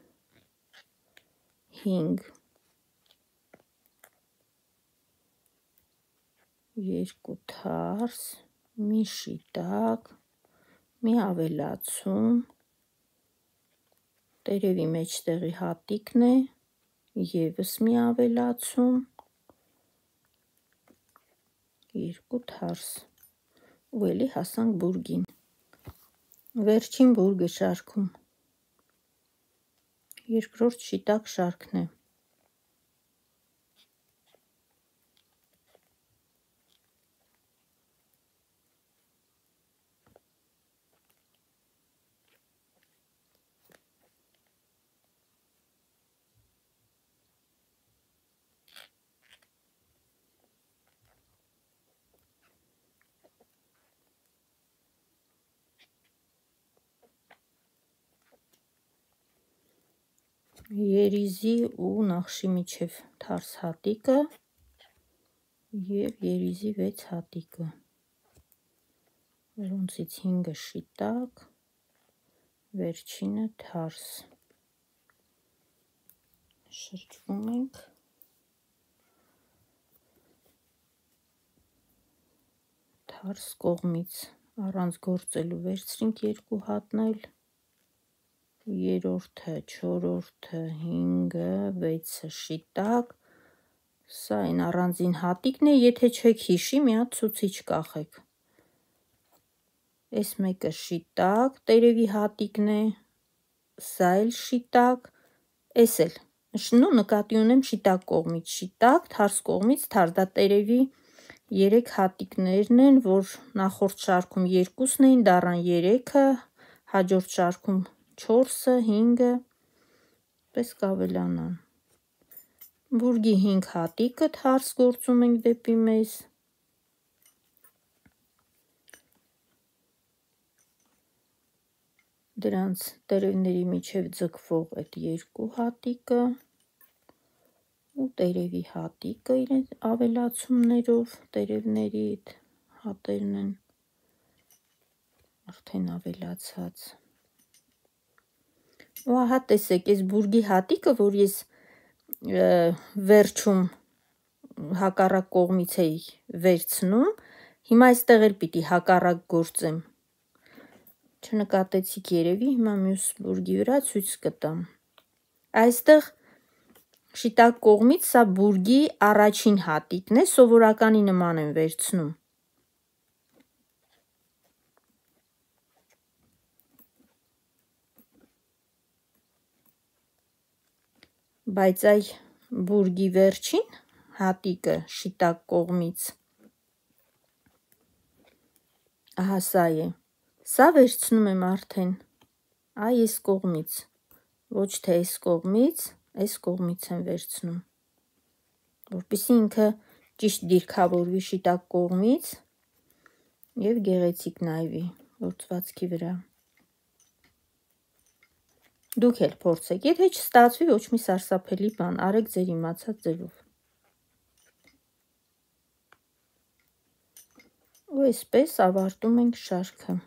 5, 2 թարս, մի շիտակ, մի ավելացում, տերևի մեջտեղի հատիկն է, ևս մի ավելացում, 2 թարս, ու էլի հասանք բուրգին։ Վերջին բուրգը շարքում, երկրորդ շիտակ շարքն է։ Երիզի ու նախշի միջև թարս հատիկը և երիզի 6 հատիկը, որոնցից 5-ը շիտակ, վերջինը թարս, շրջվում ենք, թարս կողմից առանց գործելու վերցրինք 2 հատն էլ, 3-ը, 4-ը, 5-ը, 6-ը շիտակ, սա այն առանձին հատիկն է, եթե չեք հիշի, մի հատ ցուցիչ կախեք։ Այս մեկը շիտակ, տերևի հատիկն է, սա էլ շիտակ, այս էլ, նկատի ունեմ շիտակ կողմից շիտակ, թարս կողմից թարս, դա տերևի 3 հատիկներն են, որ նախորդ շարքում 2-ն էին, դառան 3-ը, հաջորդ շարքում 4-ը, 5-ը, պես կավելանան։ Բուրգի 5 հատիկը թարս գործում ենք դեպի մեզ, դրանց տերևների միջև ձգվող այդ 2 հատիկը ու տերևի հատիկը իրենց ավելացումներով, տերևների այդ հատերն են արդեն ավելացած։ Ու ահա տեսեք, այս բուրգի հատիկը, որ ես վերջում հակառակ կողմից էի վերցնում, հիմա այստեղ էլ պիտի հակառակ գործեմ, չնկատեցիք երևի, հիմա մյուս բուրգի վրա ցույց կտամ։ Այստեղ շիտակ կողմից սա բուրգի առաջին հատիկն է, սովորականի նման եմ վերցնում։ Բայց այ բուրգի վերջին հատիկը շիտակ կողմից, ահա սա է, սա վերցնում եմ արդեն այս կողմից, ոչ թե այս կողմից եմ վերցնում, որպեսզի ինքը ճիշտ դիրքավորվի շիտակ կողմից և գեղեցիկ նայվի գործվածքի վրա։ Դուք էլ փորձեք, եթե չստացվի, ոչ մի սարսափելի բան, արեք ձեր իմացած ձևով։ Ու այսպես ավարտում ենք շարքը։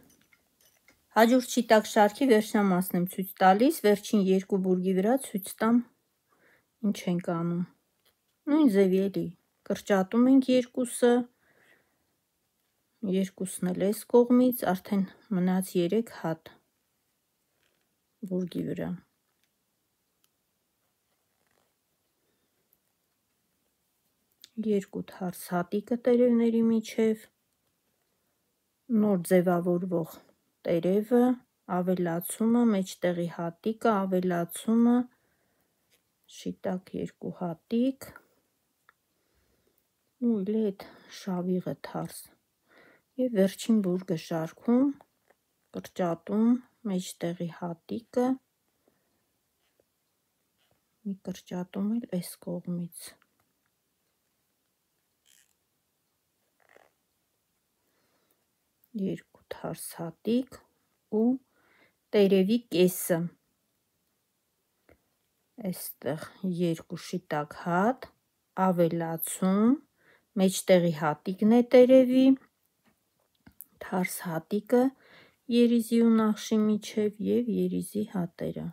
Հաջորդ շիտակ շարքի վերջնամասն եմ ցույց տալիս, վերջին 2 բուրգի վրա ցույց տամ ինչ ենք անում։ Նույն ձևի էլի, կրճատում ենք երկուսը, երկուսն էլ այս կողմից, արդեն մնաց 3 հատ բուրգի վրա։ Երկու թարս հատիկը տերևների միջև, նոր ձևավորվող տերևը, ավելացումը, մեջտեղի հատիկը, ավելացումը, շիտակ 2 հատիկ ու իլի այդ շավիղը թարս եւ վերջին բուրգը շարքում կրճատում մեջտեղի հատիկը մի կրճատում էլ այս կողմից երկու թարս հատիկ ու տերևի կեսը այստեղ 2 շիտակ հատ ավելացում մեջտեղի հատիկն է տերևի թարս հատիկը երիզի ու նախշի միջև եւ երիզի հատերը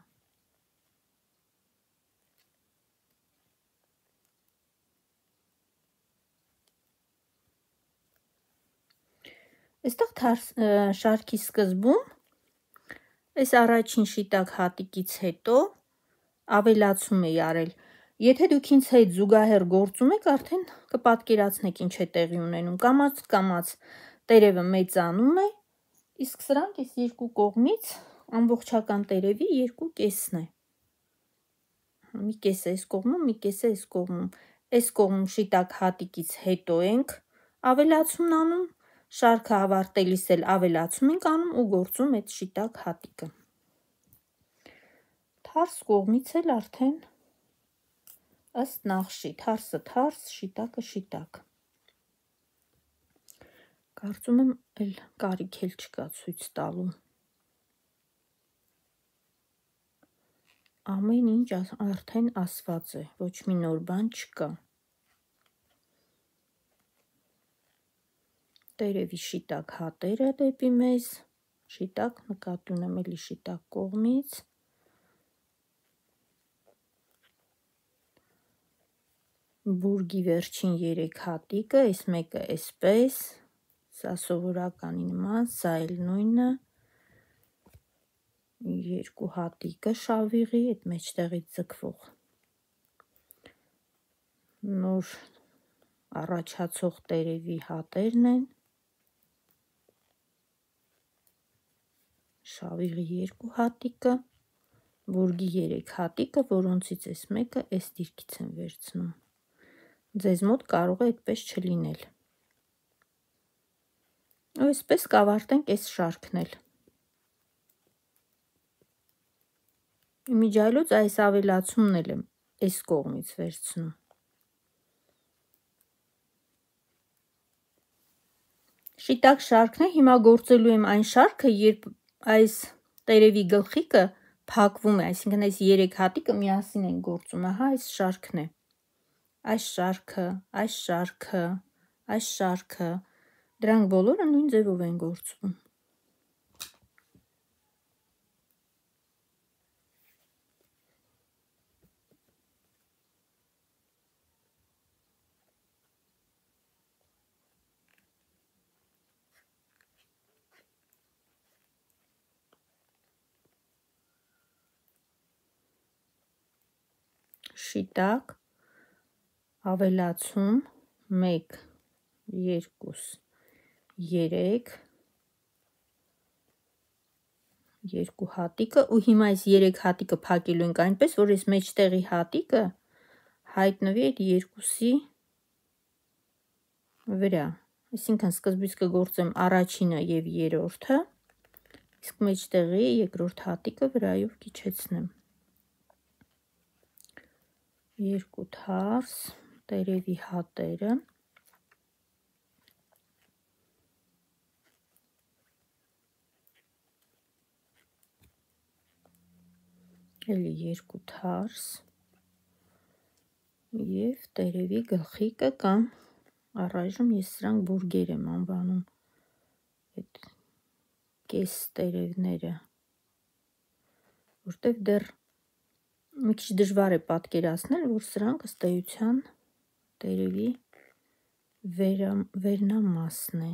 այստեղ շարքի սկզբում այս առաջին շիտակ հատիկից հետո ավելացում էի արել եթե դուք ինձ հետ զուգահեռ գործում եք արդեն կպատկերացնեք ինչ է տեղի ունենում կամաց տերևը մեծանում է իսկ սրանք այս երկու կողմից ամբողջական տերևի 2 կեսն է մի կեսը այս կողմում մի կեսը այս կողմում շիտակ հատիկից հետո ենք ավելացումն անում շարքը ավարտելիս էլ ավելացում ենք անում ու գործում այդ շիտակ հատիկը թարս կողմից էլ արդեն ըստ նախշի թարսը թարս շիտակը շիտակ կարծում եմ էլ կարիք էլ չկա ցույց տալու ամեն ինչ արդեն ասված է ոչ մի նոր բան չկա տերևի շիտակ հատերը դեպի մեզ շիտակ նկատի ունեմ էլի շիտակ կողմից բուրգի վերջին 3 հատիկը այս մեկը այսպես սա սովորականի նման սա էլ նույնը 2 հատիկը շավիղի այդ մեջտեղից ձգվող նոր առաջացող տերևի հատերն են շավիղի 2 հատիկը բուրգի 3 հատիկը որոնցից այս մեկը այս դիրքից եմ վերցնում ձեզ մոտ կարող է այդպես չլինել ու այսպես կավարտենք այս շարքն էլ իմիջիայլոց այս ավելացումն էլ եմ այս կողմից վերցնում շիտակ շարքն է հիմա գործելու եմ այն շարքը երբ այս տերևի գլխիկը փակվում է այսինքն այս 3 հատիկը միասին են գործում ահա այս շարքն է այս շարքը դրանք բոլորը նույն ձևով են գործվում շիտակ ավելացում 1 2 3 2 հատիկը ու հիմա այս 3 հատիկը փակելու ենք այնպես որ այս մեջտեղի հատիկը հայտնվի այդ երկուսի վրա այսինքն սկզբից կգործեմ առաջինը եւ երրորդը իսկ մեջտեղի երկրորդ հատիկը վրայով կիջեցնեմ 2 թարս տերևի հատերը էլի 2 թարս եւ տերևի գլխիկը կամ առայժմ ես սրանք բուրգեր եմ անվանում այդ կես տերևները որտեվ դեռ մի քիչ դժվար է պատկերացնել որ սրանք ըստ էության տերևի վերնամասն է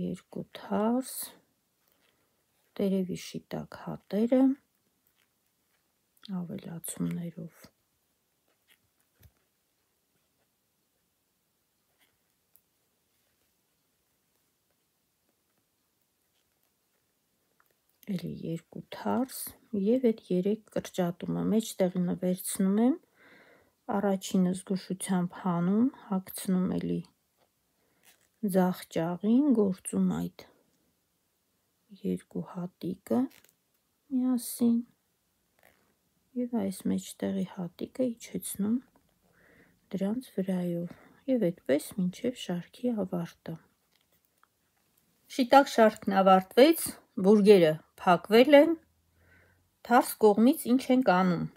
2 թարս տերևի շիտակ հատերը ավելացումներով էլի 2 թարս եւ այդ 3 կրճատումը մեջտեղինը վերցնում եմ, առաջինը զգուշությամբ հանում, հագցնում էլի ձախ ճաղին, գործում այդ 2 հատիկը միասին եւ այս մեջտեղի հատիկը իջեցնում դրանց վրայով եւ այդպես մինչեւ շարքի ավարտը։ Շիտակ շարքն ավարտվեց, բուրգերը փակվել են, թարս կողմից ինչ ենք անում։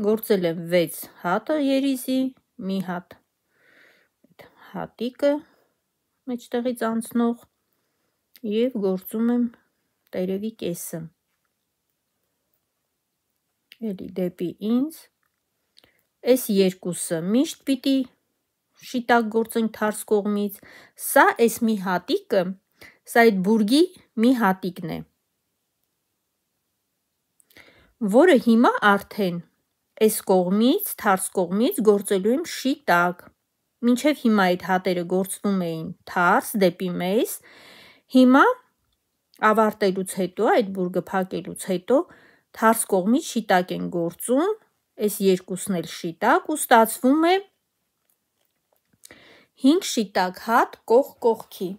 Գործել եմ 6 հատը երիզի, մի հատ հատիկը մեջտեղից անցնող եւ գործում եմ տերևի կեսը։ Էլի դեպի ինձ։ Այս երկուսը միշտ պիտի շիտակ գործենք թարս կողմից, սա այս մի հատիկը, սա այդ բուրգի մի հատիկն է, որը հիմա արդեն այս կողմից, թարս կողմից գործելու եմ շիտակ։ Մինչև հիմա այդ հատերը գործվում էին թարս դեպի մեզ, հիմա ավարտելուց հետո, այդ բուրգը փակելուց հետո թարս կողմից շիտակ են գործում, այս երկուսն էլ շիտակ ու ստացվում է 5 շիտակ հատ կողք կողքի,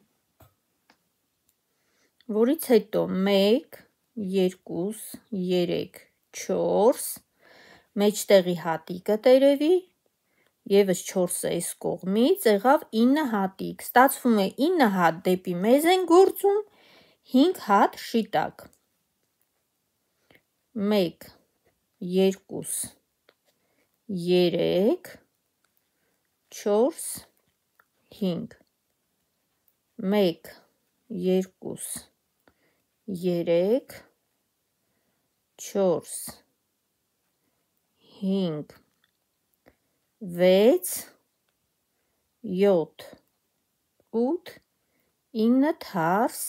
որից հետո 1, 2, 3, 4, մեջտեղի հատիկը տերևի, եւս 4-ը այս կողմից եղավ 9 հատիկ, ստացվում է 9 հատ դեպի մեզ են գործում, 5 հատ շիտակ, 1, 2, 3, 4, 5, 1, 2, 3, 4, 5, 6, 7, 8, 9 թարս,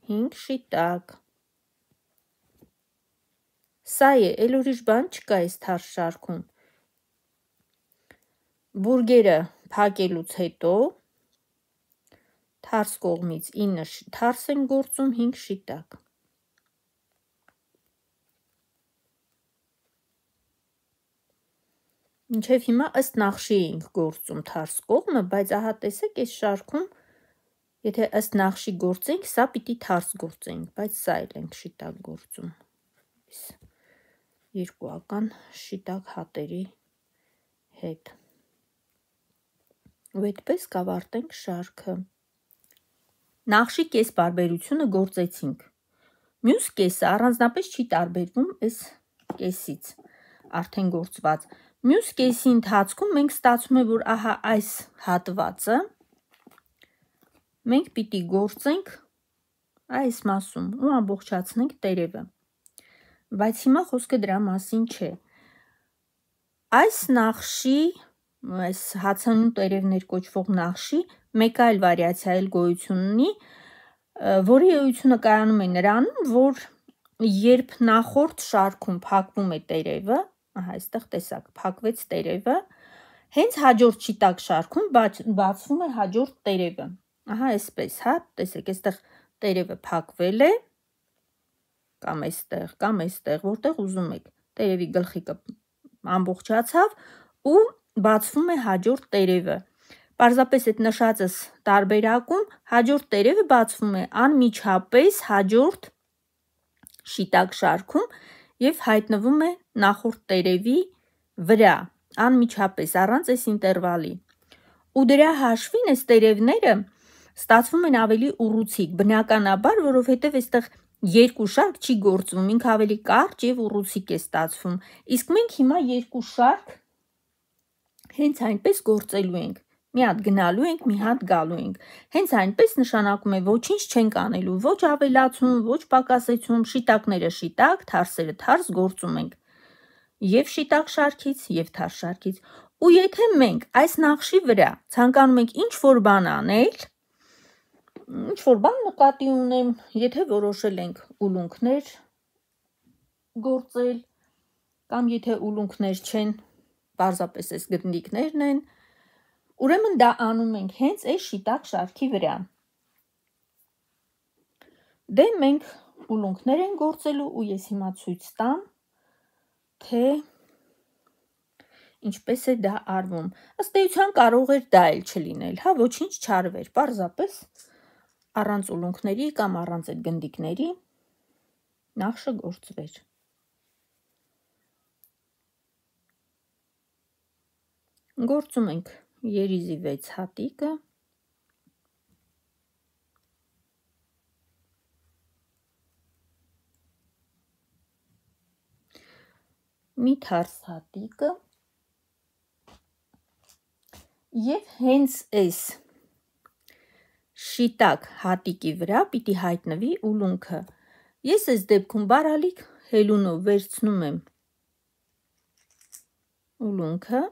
5 շիտակ։ Սա է, էլ ուրիշ բան չկա այս թարս շարքում։ Բուրգերը փակելուց հետո թարս կողմից 9 թարս են գործում, 5 շիտակ։ Մինչև հիմա ըստ նախշի էինք գործում թարս կողմը, բայց ահա տեսեք այս շարքում, եթե ըստ նախշի գործենք, սա պիտի թարս գործենք, բայց սա էլ ենք շիտակ գործում։ Երկուական շիտակ հատերի հետ։ Ու այդպես կավարտենք շարքը։ Նախշի կես բարբերությունը գործեցինք։ Մյուս կեսը առանձնապես չի տարբերվում այս կեսից, արդեն գործված։ Մյուս կեսի ընթացքում մենք ստացվում է, որ ահա այս հատվածը մենք պիտի գործենք այս մասում ու ամբողջացնենք տերևը։ Բայց հիմա խոսքը դրա մասին չէ։ Այս նախշի, այս հացանուն տերևներ կոչվող նախշի մեկ այլ վարիացիա էլ գոյություն ունի, որի էությունը կայանում է նրանում, որ երբ նախորդ շարքում փակվում է տերևը, ահա այստեղ տեսակ, փակվեց տերևը, հենց հաջորդ շիտակ շարքում բացվում է հաջորդ տերևը։ Ահա այսպես, հա, տեսեք, այստեղ տերևը փակվել է, կամ այստեղ, որտեղ ուզում եք, տերևի գլխիկը ամբողջացավ ու բացվում է հաջորդ տերևը։ Պարզապես այդ նշածս տարբերակում հաջորդ տերևը բացվում է անմիջապես հաջորդ շիտակ շարքում եւ հայտնվում է նախորդ տերևի վրա, անմիջապես, առանց այս ինտերվալի։ Ու դրա հաշվին այս տերևները ստացվում են ավելի ուռուցիկ, բնականաբար, որովհետև այստեղ երկու շարք չի գործվում, ինքը ավելի կարճ եւ ուռուցիկ է ստացվում։ Իսկ մենք հիմա երկու շարք հենց այնպես գործելու ենք։ Մի հատ գնալու ենք, մի հատ գալու ենք։ Հենց այնպես նշանակում է ոչինչ չենք անելու, ոչ ավելացում, ոչ պակասեցում, շիտակները շիտակ, թարսերը թարս գործում ենք։ Եվ շիտակ շարքից, եւ թարս շարքից։ Ու եթե մենք այս նախշի վրա ցանկանում ենք ինչ-որ բան անել, ինչ-որ բան նկատի ունեմ, եթե որոշել ենք ուլունքներ գործել, կամ եթե ուլունքներ չեն, պարզապես այս գնդիկներն են, Ուրեմն դա անում ենք հենց այս շիտակ շարքի վրա։ Դե մենք ուլունքներ են գործելու ու ես հիմա ցույց տամ, թե ինչպես է դա արվում։ Ըստ էության կարող էր դա էլ չլինել, հա, ոչինչ չարվեր, պարզապես առանց ուլունքների կամ առանց այդ գնդիկների նախշը գործվեր։ Գործում ենք երիզի 6 հատիկը։ Մի թարս հատիկը եւ հենց այս շիտակ հատիկի վրա պիտի հայտնվի ուլունքը։ Ես այս դեպքում բարալիկ հելունով վերցնում եմ ուլունքը,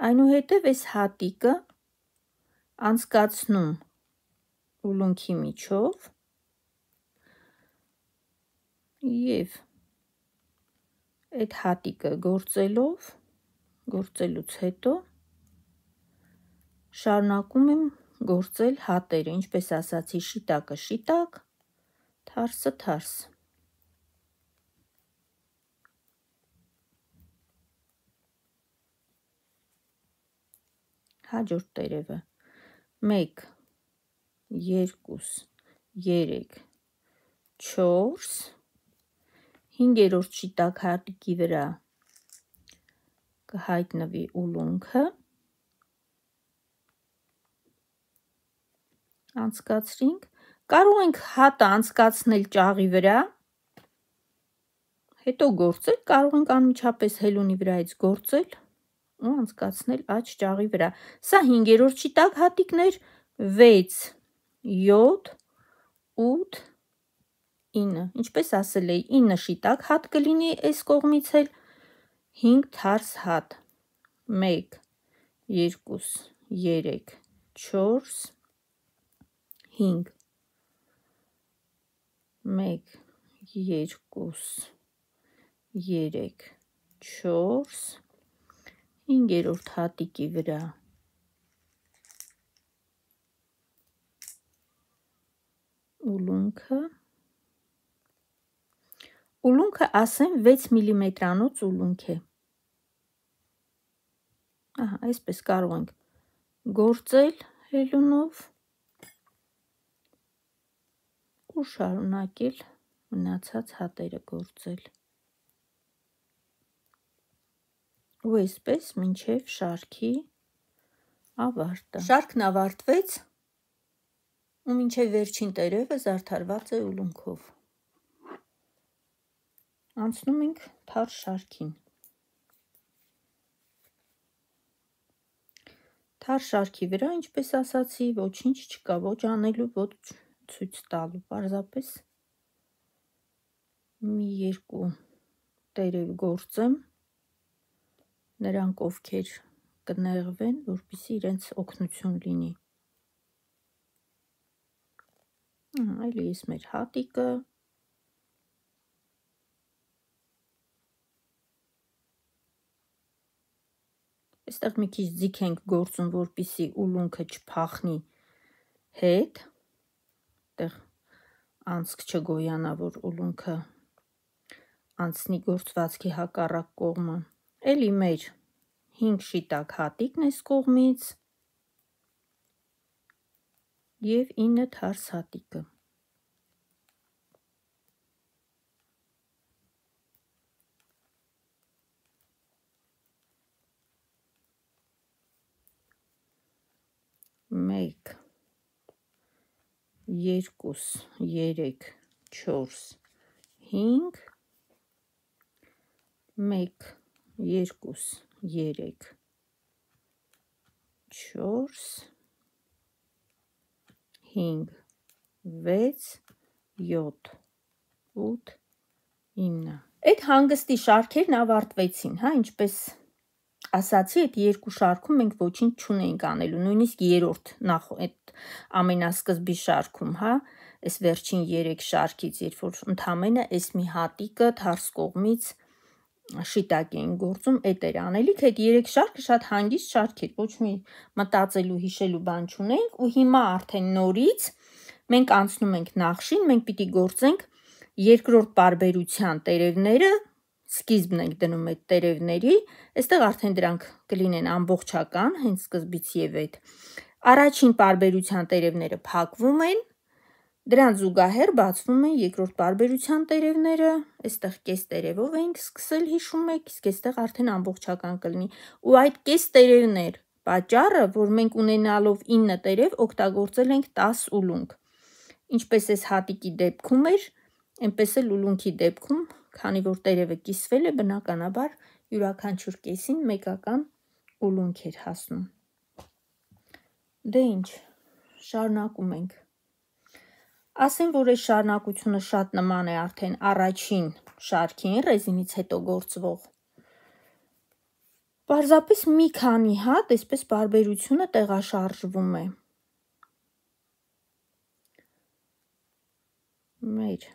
այնուհետև այս հատիկը անցկացնում ուլունքի միջով եւ այդ հատիկը գործելուց հետո շարունակում եմ գործել հատերը, ինչպես ասացի, շիտակը շիտակ, թարսը թարս։ Հաջորդ տերևը 1, 2, 3, 4, 5-րդ շիտակ հատիկի վրա կհայտնվի ուլունքը, անցկացրինք, կարող ենք հատը անցկացնել ճաղի վրա, հետո գործել, կարող ենք անմիջապես հելունի վրայից գործել ու անցկացնել աջ ճաղի վրա։ Սա 5-րդ շիտակ հատիկն էր, 6, 7, 8, 9, ինչպես ասել էի, 9 շիտակ հատ կլինի այս կողմից էլ, 5 թարս հատ, 1, 2, 3, 4, 5, 1, 2, 3, 4, 5-րդ հատիկի վրա ուլունքը ասեմ 6 միլիմետրանոց ուլունք է։ Ահա, այսպես կարող ենք գործել հելունով ու շարունակել մնացած հատերը գործել։ Ու այսպես մինչև շարքի ավարտը։ Շարքն ավարտվեց ու մինչև վերջին տերևը զարդարված է ուլունքով։ Անցնում ենք թարս շարքին։ Թարս շարքի վրա, ինչպես ասացի, ոչինչ չկա, ոչ անելու, ոչ ցույց տալու, պարզապես մի երկու տերև գործեմ, նրանք ովքեր կնեղվեն, որպեսզի իրենց օգնություն լինի։ Այլ ես մեր հատիկը այստեղ մի քիչ ձիգ ենք գործում, որպեսզի ուլունքը չփախնի հետ, այդտեղ անցք չգոյանա, որ ուլունքը անցնի գործվածքի հակառակ կողմը։ Էլի մեր 5 շիտակ հատիկն այս կողմից եւ 9 թարս հատիկը։ Մեկ, 2, 3, 4, 5, 1, 2, 3, 4, 5, 6, 7, 8, 9։ Այդ հանգստի շարքերն ավարտվեցին, հա, ինչպես ասացի, այդ երկու շարքում մենք ոչինչ չունեինք անելու, նույնիսկ երրորդ այդ ամենասկզբի շարքում, հա, այս վերջին 3 շարքից, երբ որ ընդամենը այս մի հատիկը թարս կողմից շիտակ էին գործում, էդ էր անելիք, այդ 3 շարքը շատ հանգիստ շարք էր, ոչ մի մտածելու հիշելու բան չունենք, ու հիմա արդեն նորից մենք անցնում ենք նախշին, մենք պիտի գործենք երկրորդ պարբերության տերևները, սկիզբն ենք դնում այդ տերևների, այստեղ արդեն դրանք կլինեն ամբողջական, հենց սկզբից եւ այդ առաջին պարբերության տերևները փակվում են, դրան զուգահեռ բացվում են երկրորդ պարբերության տերևները, այստեղ կես տերևով էինք սկսել, հիշում եք, իսկ այստեղ արդեն ամբողջական կլինի, ու այդ կես տերևներ պատճառը, որ մենք ունենալով 9 տերև օգտագործել ենք 10 ուլունք, ինչպես այս հատիկի դեպքում էր, այնպես էլ ուլունքի դեպքում, քանի որ տերևը կիսվել է, բնականաբար յուրաքանչյուր կեսին մեկական ուլունք էր հասնում։ Դե ինչ, շարունակում ենք։ Ասեմ, որ այս շարունակությունը շատ նման է արդեն առաջին շարքին, ռեզինից հետո գործվող։ Պարզապես մի քանի հատ այսպես պարբերությունը տեղաշարժվում է։ Մեր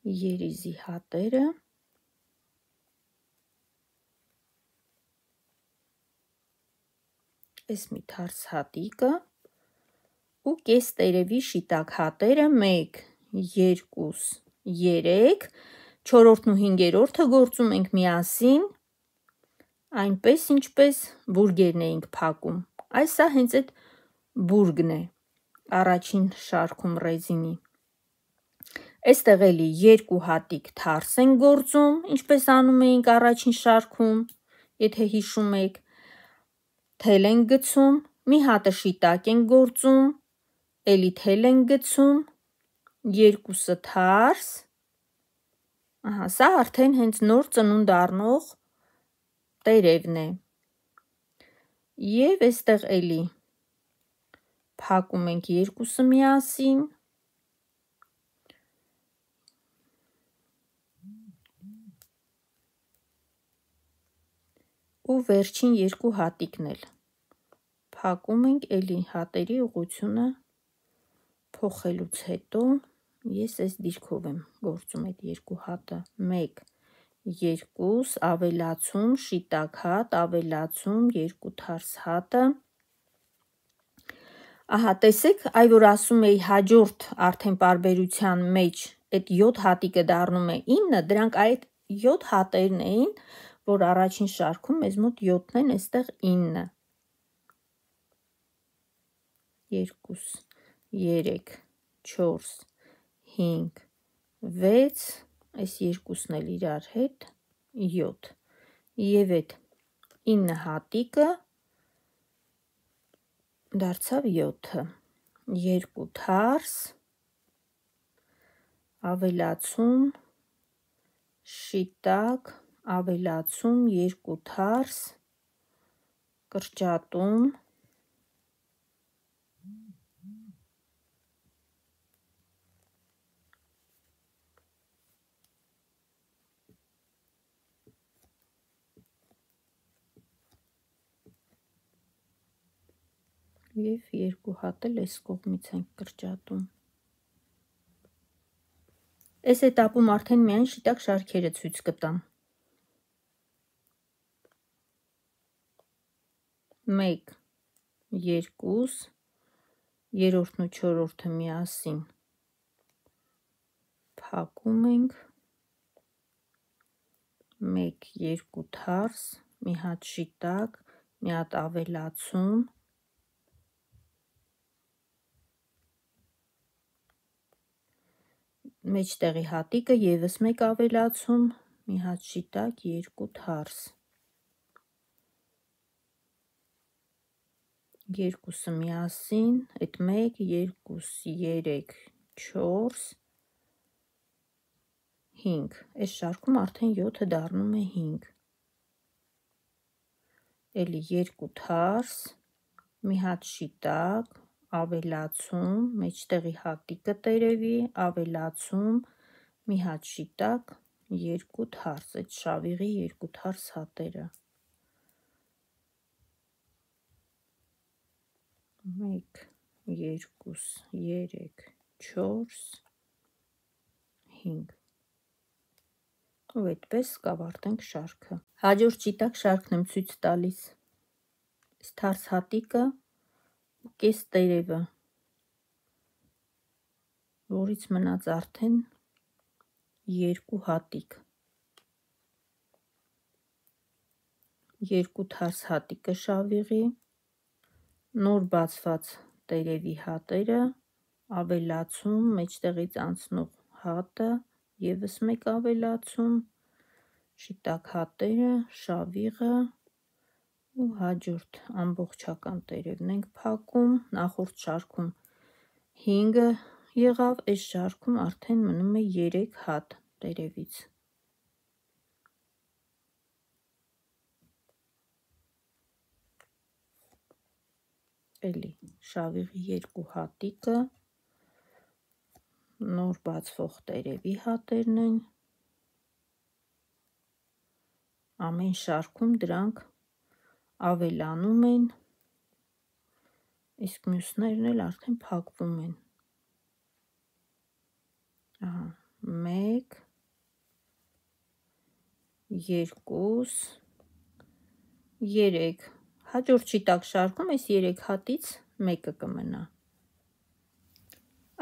երիզի հատերը այս մի թարս հատիկը ու կես տերևի շիտակ հատերը 1, 2, 3, 4-ն ու 5-րդը գործում ենք միասին, այնպես ինչպես բուրգերն էինք փակում։ Այս սա հենց այդ բուրգն է առաջին շարքում ռեզինի։ Այստեղ էլի 2 հատիկ թարս են գործում, ինչպես անում էինք առաջին շարքում, եթե հիշում եք, թել ենք գցում, մի հատը շիտակ ենք գործում, էլի թել ենք գցում, 2-ը թարս, սա արդեն հենց նոր ծնունդ առնող տերևն է։ Եվ այստեղ էլի փակում ենք 2-ը միասին, ու վերջին 2 հատիկն էլ փակում ենք, էլի հատերի ուղղությունը փոխելուց հետո ես այս դիրքով եմ գործում այդ 2 հատը, 1, 2, ավելացում, շիտակ հատ, ավելացում, 2 թարս հատը, ահա տեսեք, այ որ ասում էի հաջորդ արդեն պարբերության մեջ այդ 7 հատիկը դառնում է 9, դրանք այդ 7 հատերն էին, որ առաջին շարքում մեզ մոտ 7-ն են, այստեղ 9, 2, 3, 4, 5, 6, այս 2-ն էլ իրար հետ 7, և այդ 9 հատիկը դարձավ 7-ը, 2 թարս, ավելացում, շիտակ, ավելացում, 2 թարս, կրճատում, և 2 հատ էլ այս կողմից ենք կրճատում։ Այս էտապում արդեն միայն շիտակ շարքերը ցույց կտամ։ 1, 2, 3-ն ու 4-րդը միասին փակում ենք, 1, 2 թարս, մի հատ շիտակ, մի հատ ավելացում, մեջտեղի հատիկը ևս մեկ ավելացում, մի հատ շիտակ, 2 թարս, 2-ը միասին, այդ 1, 2, 3, 4, 5, այս շարքում արդեն 7-ը դառնում է 5, էլի 2 թարս, մի հատ շիտակ, ավելացում, մեջտեղի հատիկը տերևի, ավելացում, մի հատ շիտակ, 2 թարս, այդ շավիղի 2 թարս հատերը, 1, 2, 3, 4, 5, ու այդպես կավարտենք շարքը։ Հաջորդ շիտակ շարքն եմ ցույց տալիս։ Թարս հատիկը ու կես տերևը, որից մնաց արդեն 2 հատիկ։ 2 թարս հատիկը շավիղի, նոր բացված տերևի հատերը, ավելացում, մեջտեղից անցնող հատը, ևս մեկ ավելացում, շիտակ հատերը, շավիղը ու հաջորդ ամբողջական տերևն ենք փակում։ Նախորդ շարքում 5 եղավ, այս շարքում արդեն մնում է 3 հատ տերևից։ Էլի շավիղի 2 հատիկը, նոր բացվող տերևի հատերն են, ամեն շարքում դրանք ավելանում են, իսկ մյուսներն էլ արդեն փակվում են։ 1 2 3 Հաջորդ շիտակ շարքում այս 3 հատից մեկը կմնա։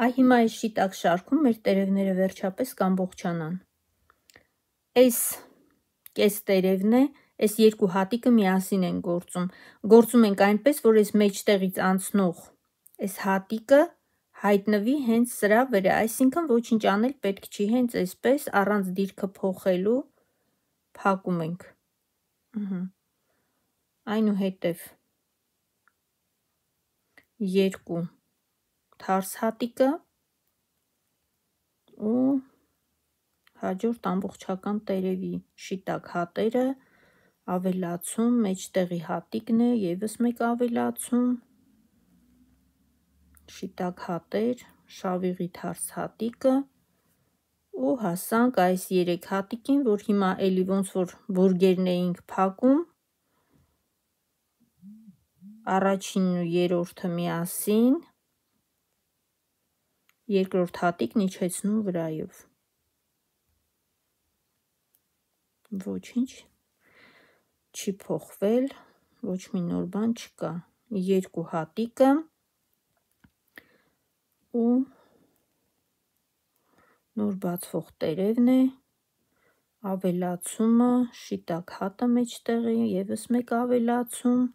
Այ հիմա այս շիտակ շարքում մեր տերևները վերջապես կամբողջանան։ Այս կես տերևն է, այս 2 հատիկը միասին են գործում։ Գործում ենք այնպես, որ այս մեջտեղից անցնող այս հատիկը հայտնվի հենց սրա վրա, այսինքն ոչինչ անել պետք չի, հենց այսպես առանց դիրքը փոխելու փակում ենք։ Այնուհետև 2 թարս հատիկը ու հաջորդ ամբողջական տերևի շիտակ հատերը, ավելացում, մեջտեղի հատիկն է, ևս մեկ ավելացում, շիտակ հատեր, շավիղի թարս հատիկը ու հասանք այս 3 հատիկին, որ հիմա էլի ոնց որ բուրգերն էինք փակում, առաջինն ու երրորդը միասին, երկրորդ հատիկն իջեցնում վրայով։ Ոչինչ չի փոխվել, ոչ մի նոր բան չկա։ 2 հատիկը ու նոր բացվող տերևն է, ավելացումը, շիտակ հատը մեջտեղի, ևս մեկ ավելացում,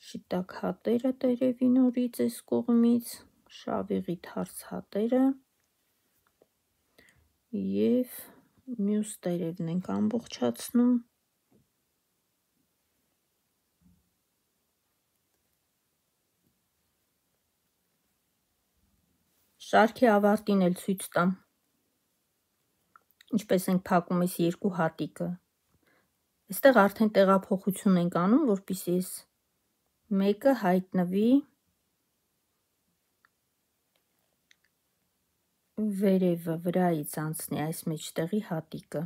շիտակ հատերը տերևի նորից այս կողմից, շավիղի թարս հատերը և մյուս տերևն ենք ամբողջացնում։ Շարքի ավարտին էլ ցույց տամ, ինչպես ենք փակում այս 2 հատիկը։ Այստեղ արդեն տեղափոխություն ենք անում, որպեսզի այս մեկը հայտնվի վերևը, վրայից անցնի այս մեջտեղի հատիկը։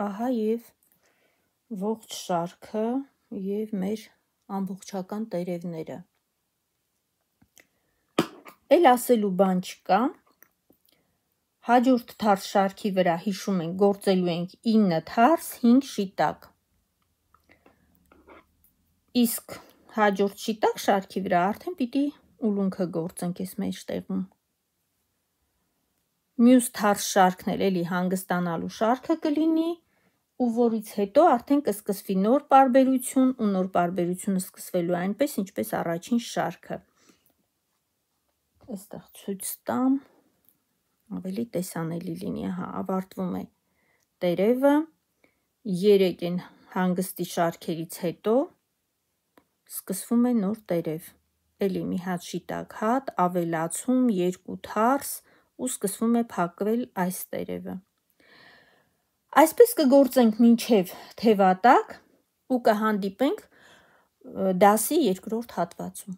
Ահա և ողջ շարքը և մեր ամբողջական տերևները։ Էլ ասելու բան չկա, հաջորդ թարս շարքի վրա հիշում ենք գործելու ենք 9 թարս 5 շիտակ, իսկ հաջորդ շիտակ շարքի վրա արդեն պիտի ուլունքը գործենք այս մեջտեղում։ Մյուս թարս շարքն էլ էլի հանգստանալու շարքը կլինի, ու որից հետո արդեն կսկսվի նոր պարբերություն, ու նոր պարբերությունը սկսվելու այնպես, ինչպես առաջին շարքը։ Այստեղ ցույց տամ, ավելի տեսանելի լինի, ավարտվում է տերևը, 3 են հանգստի շարքերից հետո սկսվում է նոր տերև, էլի մի հատ շիտակ հատ, ավելացում, 2 թարս ու սկսվում է փակվել այս տերևը։ Այսպես կգործենք մինչև թևատակ ու կհանդիպենք դասի երկրորդ հատվածում։